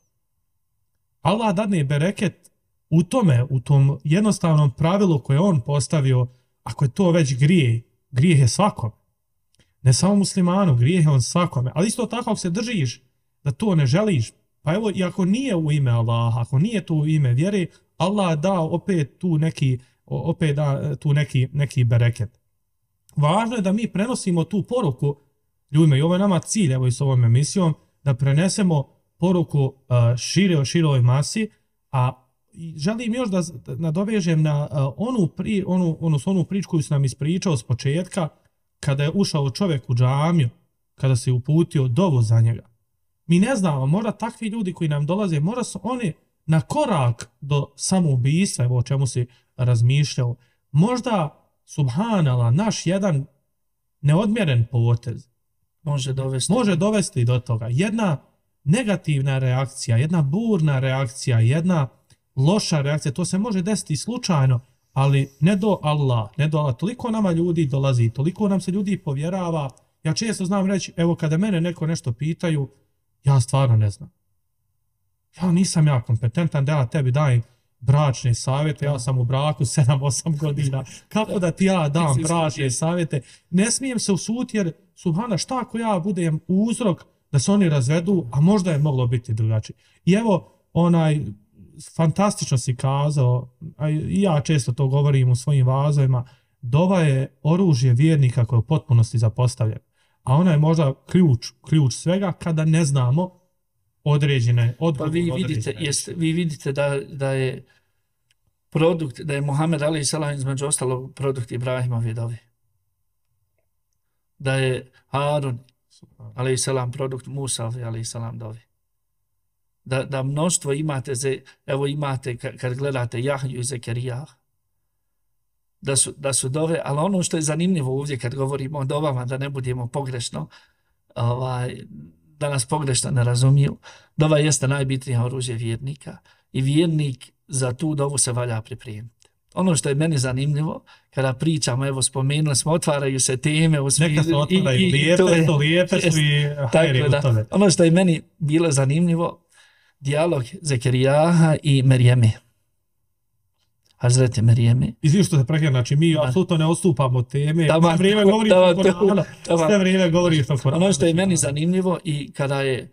Allah dadne bereket u tome, u tom jednostavnom pravilu koje on postavio, ako je to već grijeh, grijeh je svakom. Ne samo muslimanu, grijeh je on svakome. Ali isto tako ako se držiš da to ne želiš, pa evo, i ako nije u ime Allaha, ako nije to u ime vjere, Allah da opet tu neki, opet da tu neki, neki bereket. Važno je da mi prenosimo tu poruku ljudima i ovo je nama cilj, evo i s ovom emisijom, da prenesemo poruku uh, šire, široj masi, a želim još da nadovežem na uh, onu, pri, onu, onu, onu priču koju sam nam ispričao s početka, kada je ušao čovjek u džamiju, kada se uputio dovu za njega. Mi ne znamo, možda takvi ljudi koji nam dolaze, možda su oni na korak do samoubistva, evo o čemu si razmišljao, možda, subhanallah, naš jedan neodmjeren potez može dovesti. može dovesti do toga. Jedna negativna reakcija, jedna burna reakcija, jedna loša reakcija, to se može desiti slučajno, ali ne do Allah, ne do Allah. Toliko nama ljudi dolazi, toliko nam se ljudi povjerava. Ja često znam reći, evo kada mene neko nešto pitaju, ja stvarno ne znam. Ja nisam ja kompetentan da ja tebi dajem bračne savjete, ja sam u braku sedam osam godina. Kako da ti ja dam bračne savjete? Ne smijem se usuditi jer, subhana, šta ako ja budem uzrok da se oni razvedu, a možda je moglo biti drugačije. I evo, onaj, fantastično si kazao, a i ja često to govorim u svojim vazovima, dova je oružje vjernika koje je u potpunosti zapostavljeno. A ona je možda ključ, ključ svega kada ne znamo određene odgovore. Pa vi vidite, jest, vi vidite da, da je produkt, da je Muhammed alejhi selam između ostalog produkt Ibrahimove dove. Da je Harun alejhi selam produkt Musa alejhi selam dove. Da, da mnoštvo imate, ze, evo imate kad gledate Jahju i Zekerija, da su, da su dove, ali ono što je zanimljivo ovdje kad govorimo o dovama, da ne budemo pogrešno, ovaj, da nas pogrešno ne razumiju, dova jeste najbitnija oružje vjernika i vjernik za tu dovu se valja pripremiti. Ono što je meni zanimljivo, kada pričamo, evo spomenuli smo, otvaraju se teme u smislu. Neka se otvaraju, i, i, lijepe, to je, to lijepe su i hajri u tome. Ono što je meni bilo zanimljivo, dijalog Zekerijaha i Merijeme. Hazreti Merijeme. Izvijek što se prekljena, znači mi apsolutno ne odstupamo od teme, sve vrijeme govoriš o Koranu, sve vrijeme govoriš o Koranu. Ono što je meni zanimljivo i kada je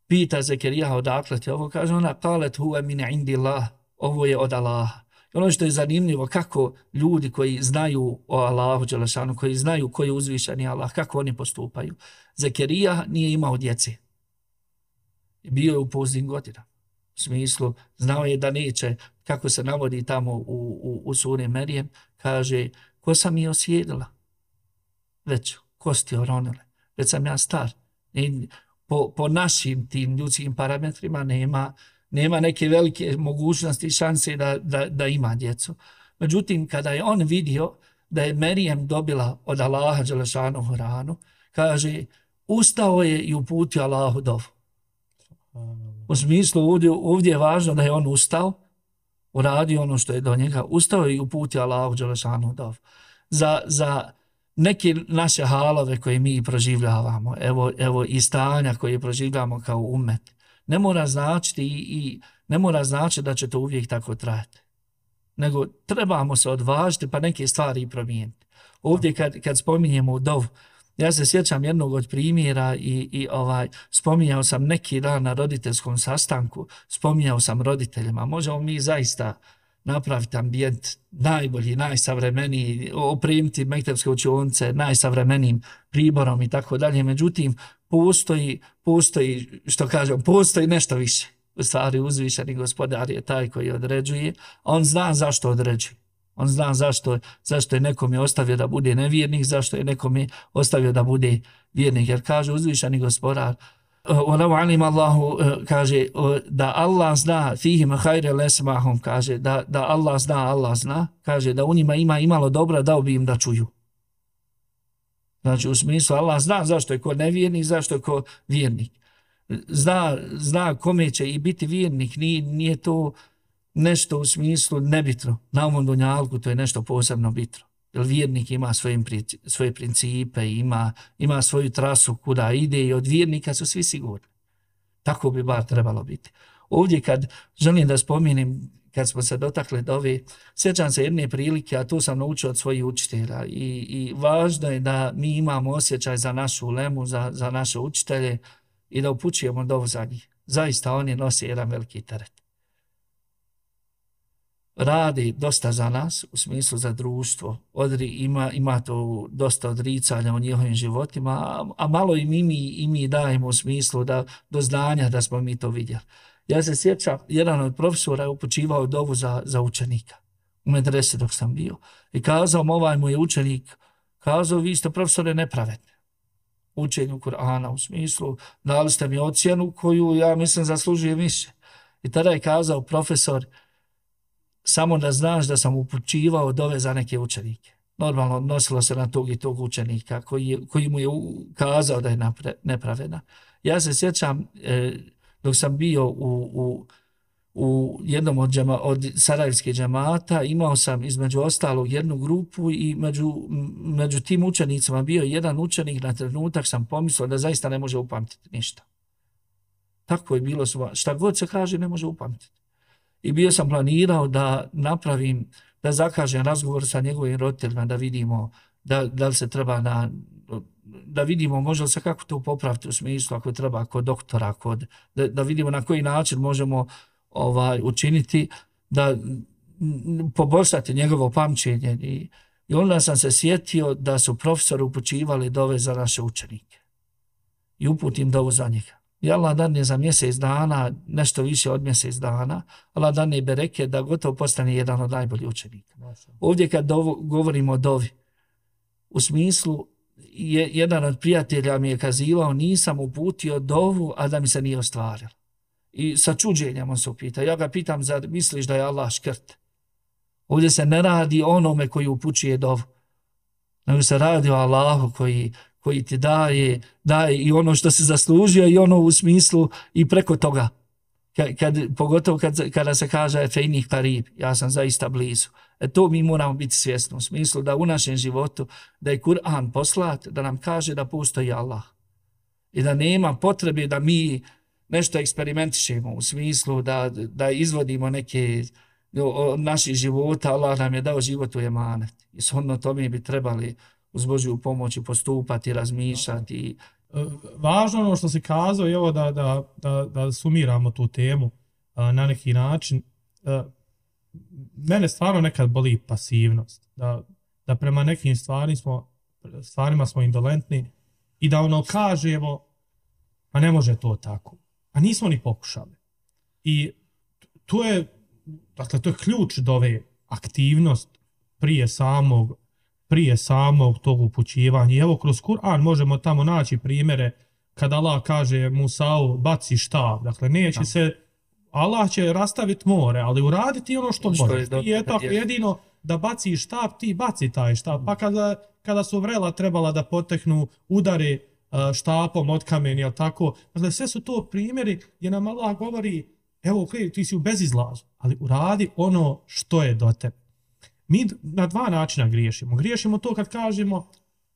pita Zekerijaha odakle ti ovo, kaže ona, kalet huve min indillah, ovo je od Allaha. I ono što je zanimljivo, kako ljudi koji znaju o Allahu dželešanu, koji znaju koji je uzvišeni Allah, kako oni postupaju. Zekerija nije imao djece. Bio je u poznim godinama. U smislu, znao je da neće, kako se navodi tamo u, u, u suri Merijem, kaže, kosa mi je osjedila. Već kosti oronile. Već sam ja star. I po, po našim tim ljudskim parametrima nema, nema neke velike mogućnosti i šanse da, da, da ima djecu. Međutim, kada je on vidio da je Merijem dobila od Allaha dželešanohu ranu, kaže, ustao je i uputio Allahu dovu. U smislu, ovdje, ovdje je važno da je on ustao, uradio ono što je do njega, ustao je i uputio Allahu dželešanohu dovu. Za, za neke naše halove koje mi proživljavamo, evo, evo i stanja koje proživljamo kao umet, ne mora značiti i, i ne mora značiti da će to uvijek tako trajati. Nego trebamo se odvažiti pa neke stvari i promijeniti. Ovdje kad, kad spominjemo dovu, ja se sjećam jednog od primjera i, i ovaj, spominjao sam neki dan na roditeljskom sastanku, spominjao sam roditeljima, možemo mi zaista napraviti ambijent najbolji, najsavremeniji, opremiti mektepske učionice najsavremenijim priborom i tako dalje. Međutim, postoji, postoji, što kažem, postoji nešto više. U stvari uzvišeni gospodar je taj koji određuje. On zna zašto određuje. On zna zašto, zašto je nekom je ostavio da bude nevjernik, zašto je nekom je ostavio da bude vjernik. Jer kaže uzvišeni gospodar, Walau alim Allahu, kaže da Allah zna fihim hajre lesmahum, kaže da, da Allah zna, Allah zna, kaže da u njima ima imalo dobra, dao bi im da čuju. Znači u smislu Allah zna zašto je ko nevjernik, zašto je ko vjernik. Zna, zna kome će i biti vjernik, nije, nije to nešto u smislu nebitno. Na ovom dunjalku to je nešto posebno bitno. Jer vjernik ima svoje, svoje principe, ima, ima svoju trasu kuda ide i od vjernika su svi sigurni. Tako bi bar trebalo biti. Ovdje kad želim da spomenem, kad smo se dotakli dove, sjećam se jedne prilike, a to sam naučio od svojih učitelja i, i važno je da mi imamo osjećaj za našu ulemu, za, za naše učitelje i da upućujemo dovu za njih. Zaista oni nose jedan veliki teret. Radi dosta za nas, u smislu za društvo. Odri, ima, ima to dosta odricanja u njihovim životima, a, a malo i mi, i mi dajemo u smislu da, do znanja da smo mi to vidjeli. Ja se sjećam, jedan od profesora je upućivao dovu za, za učenika u medresi dok sam bio. I kazao mu, ovaj mu je učenik, kazao, vi ste profesore nepravedni. Učenju Kur'ana u smislu, dali ste mi ocjenu koju ja mislim zaslužuje više. I tada je kazao profesor, samo da znaš da sam upućivao dove za neke učenike. Normalno odnosilo se na tog i tog učenika koji, koji mu je kazao da je nepravedna. Ja se sjećam, eh, dok sam bio u, u, u jednom od, džema, od sarajevskih džemata, imao sam između ostalog jednu grupu i među, među tim učenicima bio jedan učenik, na trenutak sam pomislio da zaista ne može upamtiti ništa. Tako je bilo, šta god se kaže ne može upamtiti. I bio sam planirao da napravim, da zakažem razgovor sa njegovim roditeljima, da vidimo da, da li se treba na, da vidimo može li se kako to popraviti u smislu ako treba kod doktora, kod, da, da vidimo na koji način možemo ovaj, učiniti da poboljšati njegovo pamćenje. I, I onda sam se sjetio da su profesori upućivali dove za naše učenike. I uputim dovu za njega. I Allah dadne za mjesec dana, nešto više od mjesec dana, Allah dadne bereke da gotovo postane jedan od najboljih učenika. Ovdje kad dovo, govorimo o dovi, u smislu, je, jedan od prijatelja mi je kazivao, nisam uputio dovu, a da mi se nije ostvarilo. I sa čuđenjem on se upita. Ja ga pitam, zar misliš da je Allah škrt? Ovdje se ne radi onome koji upućuje dovu, nego se radi o Allahu koji koji ti daje, daje i ono što se zaslužio i ono u smislu i preko toga. Kad, kad, pogotovo kad, kada se kaže fejnih karib, ja sam zaista blizu. E to mi moramo biti svjesni u smislu da u našem životu, da je Kur'an poslat, da nam kaže da postoji Allah. I da nema potrebe da mi nešto eksperimentišemo u smislu da, da izvodimo neke od naših života. Allah nam je dao život u emanet. I shodno tome bi trebali uz Božju pomoć i postupati, razmišljati. Važno ono što se kazao je ovo da, da, da, da sumiramo tu temu a, na neki način. A, mene stvarno nekad boli pasivnost. Da, da prema nekim stvari smo, stvarima smo indolentni i da ono kažemo a ne može to tako. A nismo ni pokušali. I to je, dakle, to je ključ do ove aktivnost prije samog prije samog tog upućivanja. I evo kroz Kur'an možemo tamo naći primjere kada Allah kaže Musa'u baci štab. Dakle, neće se, Allah će rastaviti more, ali uraditi ono što može. I je tako jedino da baci štab, ti baci taj štab. Pa kada, kada su vrela trebala da poteknu udari štapom od kamen, jel tako? Dakle, sve su to primjeri gdje nam Allah govori, evo, okay, ti si u bezizlazu, ali uradi ono što je do tebe. Mi na dva načina griješimo. Griješimo to kad kažemo,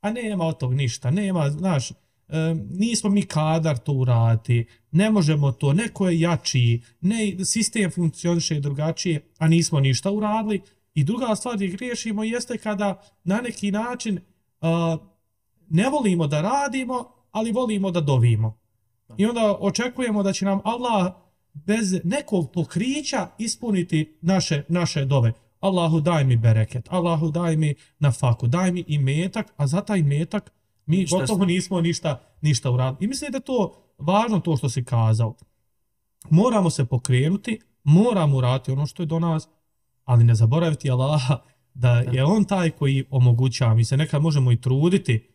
a nema od tog ništa, nema, znaš, e, nismo mi kadar to uraditi, ne možemo to, neko je jači, ne, sistem funkcioniše drugačije, a nismo ništa uradili. I druga stvar gdje griješimo jeste kada na neki način uh, ne volimo da radimo, ali volimo da dovimo. I onda očekujemo da će nam Allah bez nekog pokrića ispuniti naše, naše dove. Allahu daj mi bereket, Allahu daj mi nafaku, daj mi imetak, a za taj imetak mi gotovo nismo ništa, ništa uradili. I mislim da je to važno to što si kazao. Moramo se pokrenuti, moramo uraditi ono što je do nas, ali ne zaboraviti Allaha da je on taj koji omogućava. Mi se nekad možemo i truditi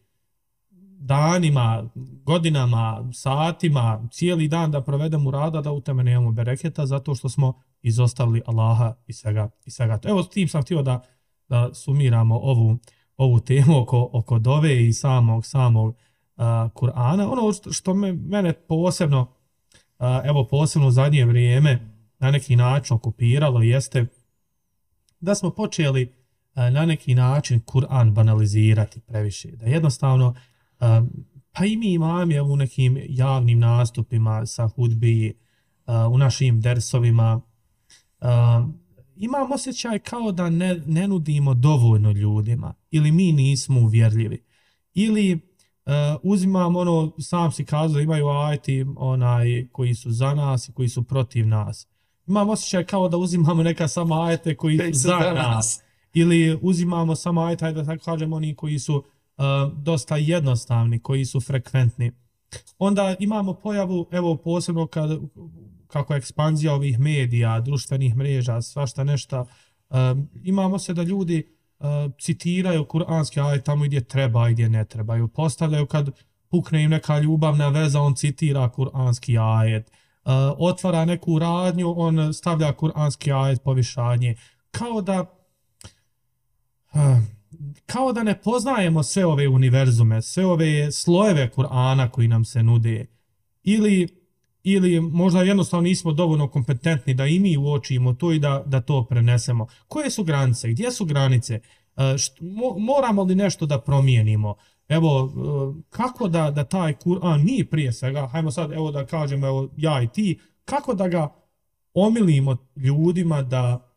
danima, godinama, satima, cijeli dan da provedemo rada, da u tome nemamo bereketa, zato što smo izostavili Allaha i svega. I svega. Evo, s tim sam htio da, da sumiramo ovu, ovu temu oko, oko dove i samog, samog uh, Kur'ana. Ono što, što me, mene posebno, uh, evo posebno u zadnje vrijeme na neki način okupiralo jeste da smo počeli uh, na neki način Kur'an banalizirati previše. Da jednostavno Uh, pa i mi imamo u nekim javnim nastupima sa hudbi, uh, u našim dersovima, uh, imam osjećaj kao da ne, ne nudimo dovoljno ljudima, ili mi nismo uvjerljivi, ili uh, uzimam ono, sam si kazao, imaju ajeti onaj, koji su za nas i koji su protiv nas. Imam osjećaj kao da uzimamo neka samo ajete koji su za nas. nas, ili uzimamo samo ajete, da tako kažem, oni koji su Uh, dosta jednostavni, koji su frekventni. Onda imamo pojavu, evo posebno kad, kako je ekspanzija ovih medija, društvenih mreža, svašta nešto, uh, imamo se da ljudi uh, citiraju kuranski ajet tamo gdje treba i gdje ne trebaju. Postavljaju kad pukne im neka ljubavna veza, on citira kuranski ajet. Uh, otvara neku radnju, on stavlja kuranski ajet povišanje. Kao da uh, kao da ne poznajemo sve ove univerzume, sve ove slojeve Kur'ana koji nam se nude. Ili, ili možda jednostavno nismo dovoljno kompetentni da i mi uočimo to i da, da to prenesemo. Koje su granice? Gdje su granice? Št, mo, moramo li nešto da promijenimo? Evo, kako da, da taj Kur'an mi prije svega, hajmo sad evo da kažemo, evo ja i ti, kako da ga omilimo ljudima da,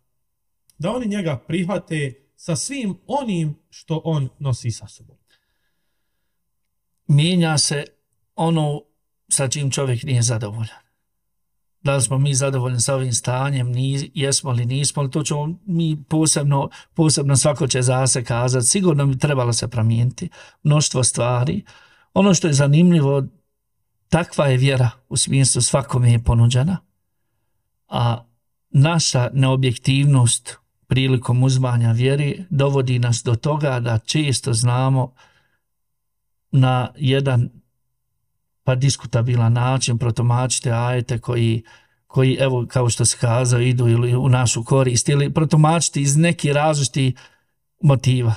da oni njega prihvate sa svim onim što on nosi sa sobom. Mijenja se ono sa čim čovjek nije zadovoljan. Da li smo mi zadovoljni sa ovim stanjem, ni, jesmo li, nismo li, to ćemo mi posebno, posebno svako će za se kazati. Sigurno bi trebalo se promijeniti mnoštvo stvari. Ono što je zanimljivo, takva je vjera u smislu svakome je ponuđena, a naša neobjektivnost prilikom uzmanja vjeri dovodi nas do toga da često znamo na jedan pa diskutabilan način protumačiti ajete koji, koji evo kao što se kazao idu ili u našu korist ili protumačiti iz nekih različitih motiva,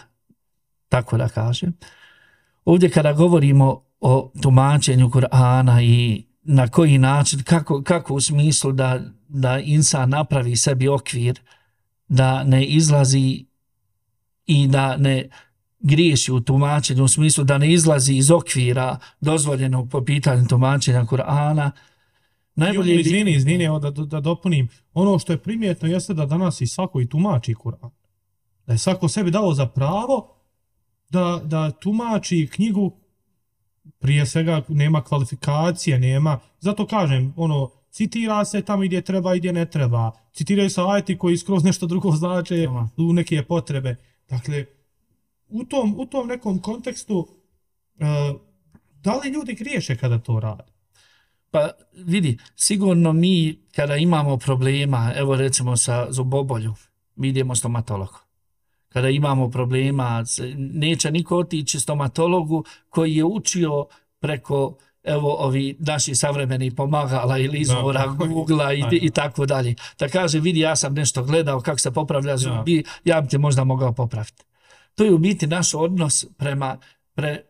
tako da kažem. Ovdje kada govorimo o tumačenju Kur'ana i na koji način, kako, kako u smislu da, da insan napravi sebi okvir, da ne izlazi i da ne griješi u tumačenju, u smislu da ne izlazi iz okvira dozvoljenog po pitanju tumačenja Kur'ana. Najbolje izvini, izvini, evo da, da dopunim. Ono što je primjetno jeste da danas i svako i tumači Kur'an. Da je svako sebi dao za pravo da, da tumači knjigu, prije svega nema kvalifikacije, nema, zato kažem, ono, citira se tamo gdje treba i gdje ne treba. Citiraju se ajeti koji skroz nešto drugo znače u neke potrebe. Dakle, u tom, u tom nekom kontekstu, uh, da li ljudi griješe kada to rade? Pa vidi, sigurno mi kada imamo problema, evo recimo sa zuboboljom, mi idemo stomatologu. kada imamo problema, neće niko otići stomatologu koji je učio preko evo ovi naši savremeni pomagala ili izvora Google-a i, i tako dalje. Da kaže, vidi, ja sam nešto gledao kako se popravlja zubi, ja bi te možda mogao popraviti. To je u biti naš odnos prema, pre,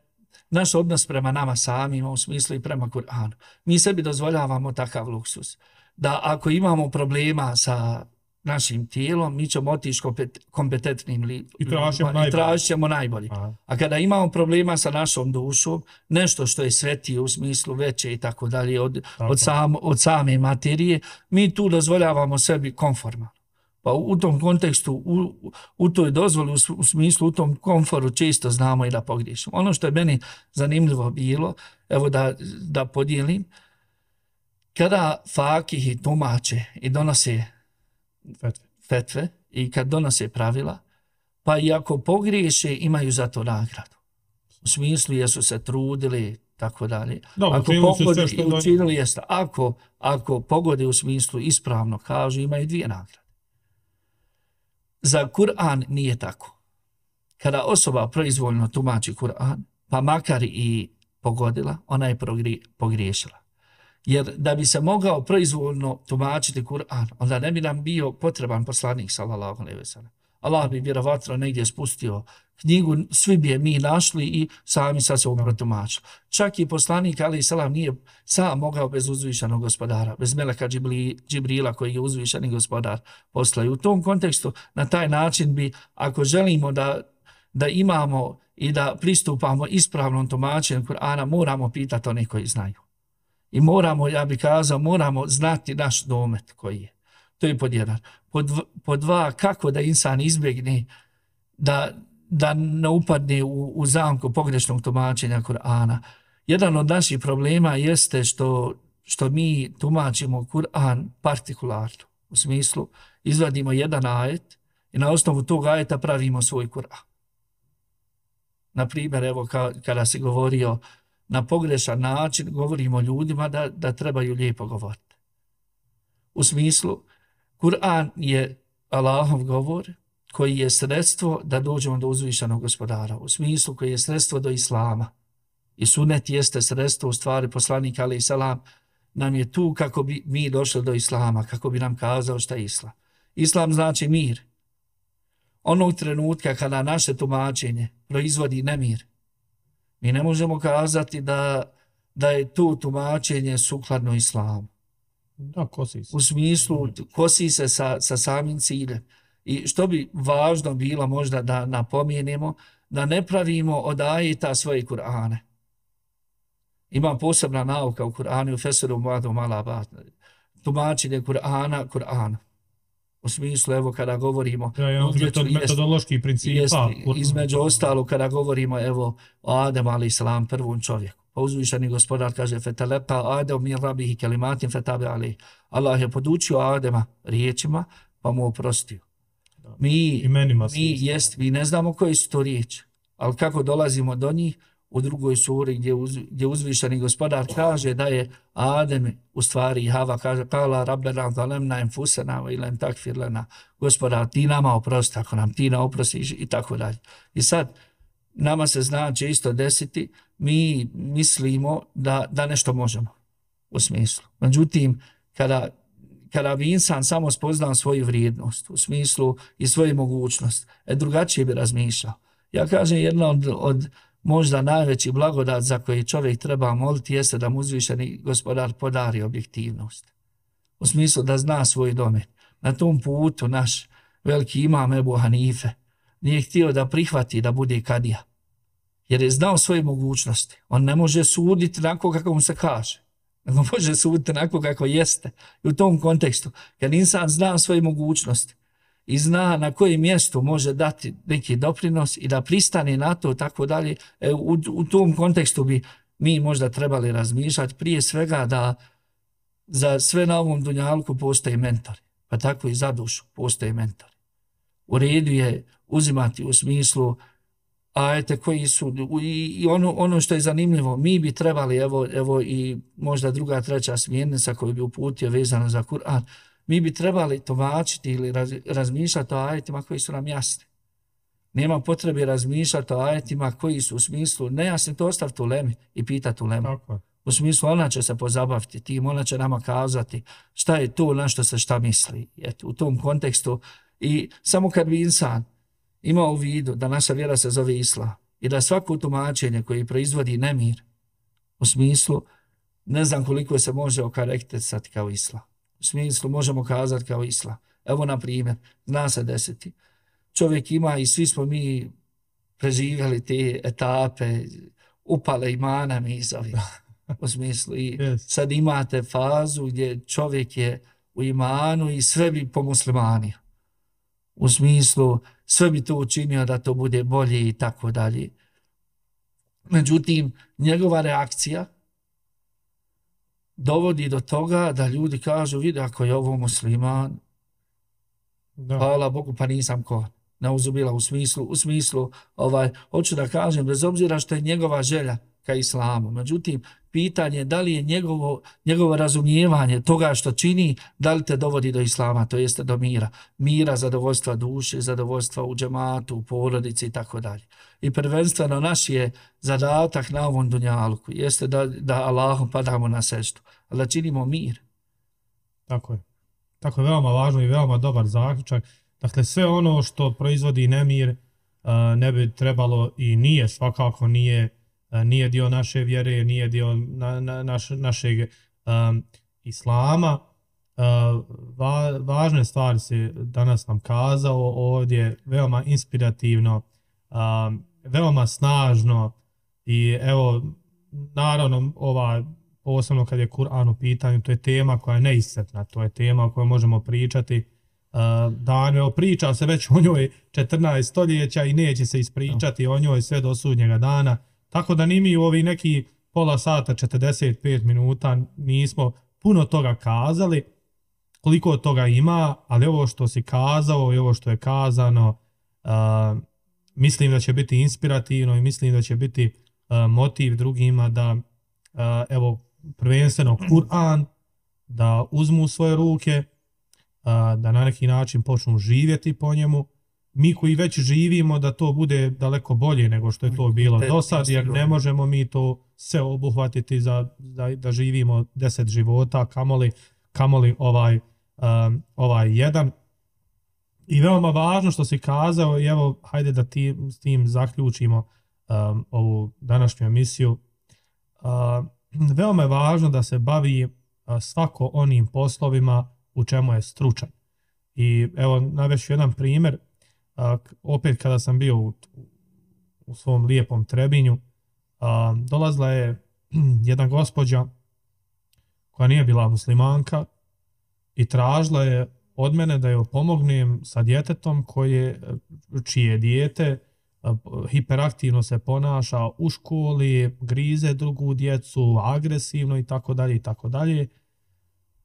naš odnos prema nama samima, u smislu i prema Kur'anu. Mi sebi dozvoljavamo takav luksus. Da ako imamo problema sa našim tijelom, mi ćemo otići kompetentnim li, i tražit tražit ćemo najbolje. Aha. A kada imamo problema sa našom dušom, nešto što je svetije u smislu veće i tako dalje od, od, sam, od same materije, mi tu dozvoljavamo sebi konforma. Pa u, u tom kontekstu, u, u toj dozvoli, u, u smislu, u tom komforu često znamo i da pogriješimo. Ono što je meni zanimljivo bilo, evo da, da podijelim, kada fakihi tumače i donose fetve. fetve i kad donose pravila, pa i ako pogriješe imaju za to nagradu. U smislu jesu se trudili, tako dalje. Dobro, ako pogode i učinili jeste, ako, ako pogode u smislu ispravno kažu, imaju dvije nagrade. Za Kur'an nije tako. Kada osoba proizvoljno tumači Kur'an, pa makar i pogodila, ona je pogriješila. Jer da bi se mogao proizvoljno tumačiti Kur'an, onda ne bi nam bio potreban poslanik, sallallahu alejhi ve sellem. Allah bi vjerovatno negdje spustio knjigu, svi bi je mi našli i sami sa se protumačili. Čak i poslanik, alejhi selam, nije sam mogao bez uzvišenog gospodara, bez meleka Džibri, Džibrila koji je uzvišeni gospodar poslao. U tom kontekstu, na taj način bi, ako želimo da, da imamo i da pristupamo ispravnom tumačenju Kur'ana, moramo pitati one koji znaju. I moramo, ja bih kazao, moramo znati naš domet koji je. To je pod jedan. Pod, pod dva, kako da insan izbjegne da, da ne upadne u, u zamku pogrešnog tumačenja Kur'ana. Jedan od naših problema jeste što, što mi tumačimo Kur'an partikularno. U smislu, izvadimo jedan ajet i na osnovu tog ajeta pravimo svoj Kur'an. Na primjer, evo ka, kada se govorio na pogrešan način, govorimo ljudima da, da trebaju lijepo govoriti. U smislu, Kur'an je Allahov govor koji je sredstvo da dođemo do uzvišenog gospodara. U smislu koji je sredstvo do Islama. I sunet jeste sredstvo, u stvari poslanik alejhi selam nam je tu kako bi mi došli do Islama, kako bi nam kazao šta je Islam. Islam znači mir. Onog trenutka kada naše tumačenje proizvodi nemir, mi ne možemo kazati da, da je to tumačenje sukladno Islamu. Da, kosi se. U smislu, kosi se sa, sa samim ciljem. I što bi važno bilo možda da napomenemo, da ne pravimo od ajeta svoje Kur'ane. Ima posebna nauka u Kur'anu, u Fesiru Muadu Malabat, tumačenje Kur'ana, Kur'ana. U smislu, evo, kada govorimo... Ja, ja, metod, metodološki princip. Jest, između ostalo, kada govorimo, evo, o Ademu alejhi selam, prvom čovjeku. Pa uzvišeni gospodar kaže, feteleqa Adem min rabihi kelimatin fetabe alejhi. Allah je podučio Adema riječima, pa mu oprostio. Mi, mi, jest, mi ne znamo koje su to riječi, ali kako dolazimo do njih, u drugoj suri gdje, uz, gdje uzvišeni gospodar kaže da je Adem u stvari Hava kaže kala rabbena zalemna enfusena wa ilem takfir lana, gospodar ti nama oprosti ako nam ti ne oprostiš i tako dalje. I sad nama se zna često desiti, mi mislimo da, da nešto možemo u smislu. Međutim, kada, kada bi insan samo spoznao svoju vrijednost u smislu i svoju mogućnost, e, drugačije bi razmišljao. Ja kažem, jedna od, od možda najveći blagodat za koji čovjek treba moliti jeste da mu uzvišeni gospodar podari objektivnost. U smislu da zna svoj domen. Na tom putu naš veliki imam Ebu Hanife nije htio da prihvati da bude kadija. Jer je znao svoje mogućnosti. On ne može suditi onako kako mu se kaže. Nego može suditi onako kako jeste. I u tom kontekstu, kad insan zna svoje mogućnosti i zna na kojem mjestu može dati neki doprinos i da pristane na to, tako dalje, e, u, u tom kontekstu bi mi možda trebali razmišljati prije svega da za sve na ovom dunjalku postoje mentori, pa tako i za dušu postoje mentori. U redu je uzimati u smislu ajete koji su, i, i ono, ono što je zanimljivo, mi bi trebali, evo, evo i možda druga, treća smjernica koju bi uputio vezano za Kur'an, mi bi trebali tumačiti ili raz, razmišljati o ajetima koji su nam jasni. Nema potrebe razmišljati o ajetima koji su u smislu, nejasni, to ostaviti u lemi i pitati u lemi. Tako. U smislu ona će se pozabaviti tim, ona će nama kazati šta je to, na što se šta misli. Eto, u tom kontekstu i samo kad bi insan imao u vidu da naša vjera se zove Islam i da svako tumačenje koji proizvodi nemir u smislu, ne znam koliko se može okarakterisati kao Islam. U smislu možemo kazati kao Islam. Evo na primjer, zna se desiti. Čovjek ima i svi smo mi preživjeli te etape, upale imana mi zove. U smislu i yes. sad imate fazu gdje čovjek je u imanu i sve bi po muslimaniju. U smislu sve bi to učinio da to bude bolje i tako dalje. Međutim, njegova reakcija dovodi do toga da ljudi kažu, vidi ako je ovo musliman, Da. hvala Bogu pa nisam ko. Ne uzubila u smislu, u smislu ovaj, hoću da kažem, bez obzira što je njegova želja ka islamu. Međutim, pitanje je da li je njegovo, njegovo razumijevanje toga što čini, da li te dovodi do islama, to jeste do mira. Mira, zadovoljstva duše, zadovoljstva u džematu, u porodici i tako dalje. I prvenstveno naš je zadatak na ovom dunjaluku, jeste da, da Allahu padamo na seždu, ali da činimo mir. Tako je. Tako je veoma važno i veoma dobar zaključak. Dakle, sve ono što proizvodi nemir uh, ne bi trebalo i nije, svakako nije, uh, nije dio naše vjere, nije dio na, na, naš, našeg um, islama. Uh, va, važne stvari se danas nam kazao ovdje, veoma inspirativno, um, veoma snažno i evo, naravno, ova posebno kad je Kur'an u pitanju, to je tema koja je neiscrpna, to je tema o kojoj možemo pričati uh, dan, evo priča se već o njoj četrnaest stoljeća i neće se ispričati o njoj sve do sudnjega dana, tako da ni mi u ovi neki pola sata, četrdeset pet minuta nismo puno toga kazali, koliko toga ima, ali ovo što si kazao i ovo što je kazano, uh, mislim da će biti inspirativno i mislim da će biti uh, motiv drugima da uh, evo prvenstveno Kur'an da uzmu u svoje ruke, da na neki način počnu živjeti po njemu. Mi koji već živimo da to bude daleko bolje nego što je to bilo do sad, jer ne možemo mi to sve obuhvatiti za, da, da živimo deset života, kamoli, kamoli ovaj, um, ovaj jedan. I veoma važno što si kazao, i evo, hajde da ti, s tim zaključimo um, ovu današnju emisiju. Uh, veoma je važno da se bavi uh, svako onim poslovima u čemu je stručan. I evo, navešću jedan primjer. Uh, opet kada sam bio u, u svom lijepom Trebinju, uh, dolazila je jedna gospođa koja nije bila muslimanka i tražila je od mene da joj pomognem sa djetetom koje, čije dijete hiperaktivno se ponaša u školi, grize drugu djecu, agresivno i tako dalje i tako dalje.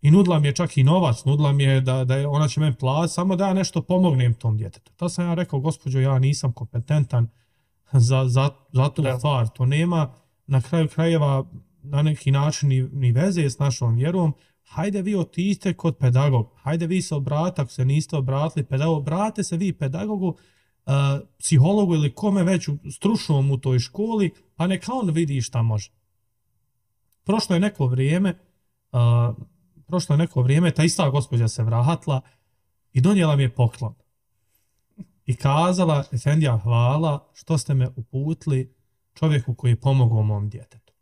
I nudila mi je čak i novac, nudila mi je da, da je, ona će meni platiti, samo da ja nešto pomognem tom djetetu. To sam ja rekao, gospođo, ja nisam kompetentan za, za, za tu stvar. To nema na kraju krajeva na neki način ni, ni veze s našom vjerom. Hajde vi otiđite kod pedagog, hajde vi se obratite, ako se niste obratili pedagog, obrate se vi pedagogu, uh, psihologu ili kome već u, stručnom u toj školi, pa neka on vidi šta može. Prošlo je neko vrijeme, uh, prošlo je neko vrijeme, ta ista gospođa se vratila i donijela mi je poklon. I kazala, Efendija, hvala što ste me uputili čovjeku koji je pomogao mom djetetu.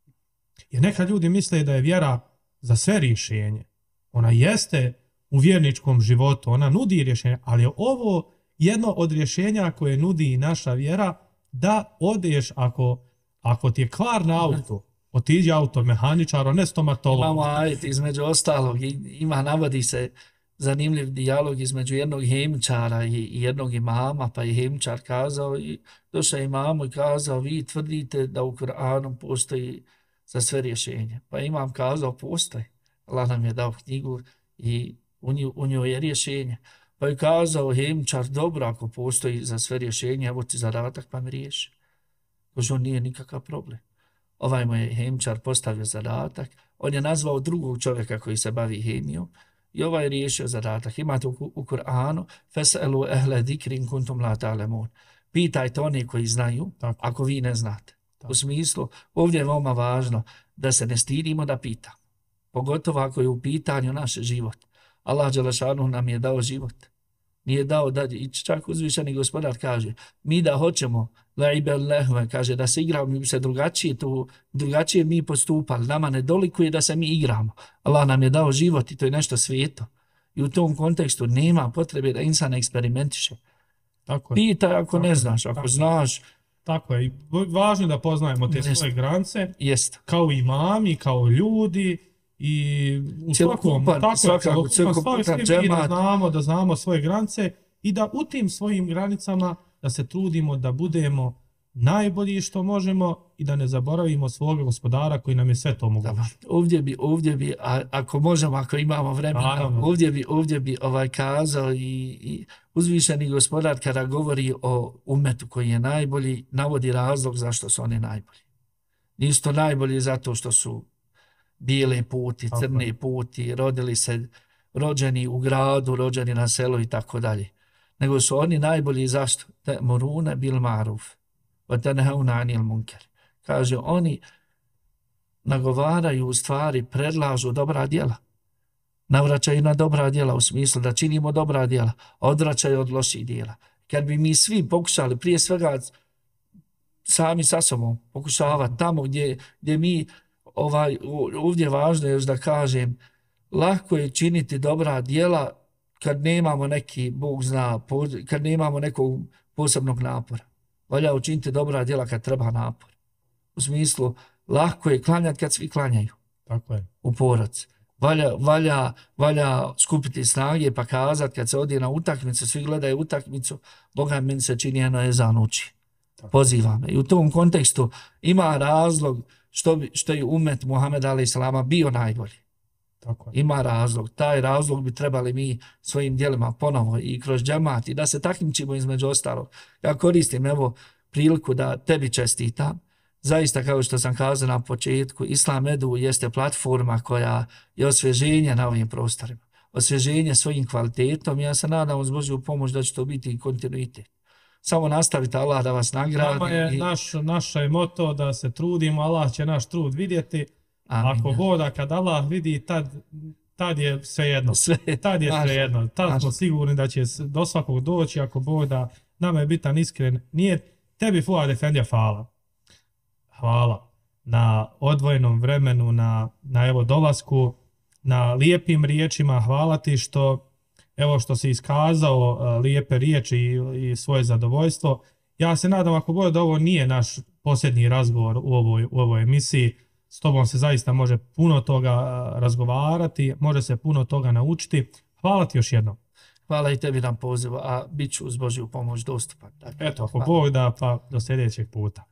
Jer neka ljudi misle da je vjera za sve rješenje. Ona jeste u vjerničkom životu, ona nudi rješenje, ali je ovo jedno od rješenja koje nudi i naša vjera, da odeš ako, ako ti je kvar na auto, otiđi automehaničar, ne stomatolog. Imamo ajet između ostalog, ima, navodi se zanimljiv dijalog između jednog hemčara i jednog imama, pa je hemčar kazao, i došao imamu i kazao, vi tvrdite da u Kur'anu postoji za sve rješenje. Pa imam kazao, postoji. Allah nam je dao knjigu i u njoj, u njoj je rješenje. Pa je kazao hemčar, dobro, ako postoji za sve rješenje, evo ti zadatak pa mi riješi. Kože on nije nikakav problem. Ovaj mu je hemčar postavio zadatak, on je nazvao drugog čovjeka koji se bavi hemijom i ovaj je riješio zadatak. Imate u, u Kur'anu, fes'elu ehle zikrin kuntum la ta'lemun. Pitajte one koji znaju, Tako. ako vi ne znate. Tako. U smislu, ovdje je veoma važno da se ne stidimo da pitamo. Pogotovo ako je u pitanju naš život. Allah dželešanu nam je dao život. Nije dao da, i čak uzvišeni gospodar kaže, mi da hoćemo, la'ibel lehve, kaže da se igramo, mi bi se drugačije, to, drugačije mi postupali. Nama ne dolikuje da se mi igramo. Allah nam je dao život i to je nešto svijeto. I u tom kontekstu nema potrebe da insan eksperimentiše. Tako je. Pitaj ako Tako ne je. znaš, ako Tako. znaš, Tako je. I važno je da poznajemo te Jeste. svoje granice, jest. kao imami, kao ljudi i u svakom, Cjelokupan, tako je, svakako, cjelokupan, cjelokupan svi mi da džemat. znamo, da znamo svoje granice i da u tim svojim granicama da se trudimo da budemo najbolji što možemo i da ne zaboravimo svog gospodara koji nam je sve to omogućio. Ovdje bi, ovdje bi, a, ako možemo, ako imamo vremena, Naravno. ovdje bi, ovdje bi ovaj kazao i, i uzvišeni gospodar kada govori o umetu koji je najbolji, navodi razlog zašto su oni najbolji. Nisu to najbolji zato što su bijele puti, Tako crne je. puti, rodili se, rođeni u gradu, rođeni na selu i tako dalje. Nego su oni najbolji zašto? Ta'muruna bil ma'ruf wa tanhauna 'anil munkar. Kaže, oni nagovaraju u stvari, predlažu dobra djela. Navraćaju na dobra djela u smislu da činimo dobra djela, a odvraćaju od loših djela. Kad bi mi svi pokušali, prije svega sami sa sobom, pokušavati tamo gdje, gdje mi, ovaj, ovdje je važno još da kažem, lako je činiti dobra djela kad nemamo neki, Bog zna, kad nemamo nekog posebnog napora. Valja učiniti dobra djela kad treba napor. U smislu, lako je klanjati kad svi klanjaju Tako je. u porodci. Valja, valja, valja skupiti snage pa kazati kad se odi na utakmicu, svi gledaju utakmicu, Boga meni se čini jedno ezan uči. Poziva me. I u tom kontekstu ima razlog što, bi, što je umet Muhameda alejhi selama bio najbolji. Tako je. Ima razlog. Taj razlog bi trebali mi svojim djelima ponovo i kroz džemat i da se takmičimo između ostalog. Ja koristim evo priliku da tebi čestitam. Zaista, kao što sam kazao na početku, Islam Edu jeste platforma koja je osvježenje na ovim prostorima. Osvježenje svojim kvalitetom. Ja se nadam uz Božju pomoć da će to biti kontinuitet. Samo nastavite, Allah da vas nagradi. Nama je i... naš, naša je moto da se trudimo, Allah će naš trud vidjeti. Amin. Ako voda, kad Allah vidi, tad, tad je sve jedno. Sve. Tad je sve jedno. Tad Maša. smo sigurni da će do svakog doći, ako voda, nama je bitan iskren. Nije tebi, Fuad Efendija, hvala. Hvala na odvojenom vremenu, na, na evo dolasku, na lijepim riječima. Hvala ti što, evo što si iskazao uh, lijepe riječi i, i svoje zadovoljstvo. Ja se nadam, ako god da ovo nije naš posljednji razgovor u ovoj, u ovoj emisiji, s tobom se zaista može puno toga uh, razgovarati, može se puno toga naučiti. Hvala ti još jednom. Hvala i tebi na pozivu, a bit ću uz Božju pomoć dostupan. Dakle, Eto, ako hvala. Bog da, pa do sljedećeg puta.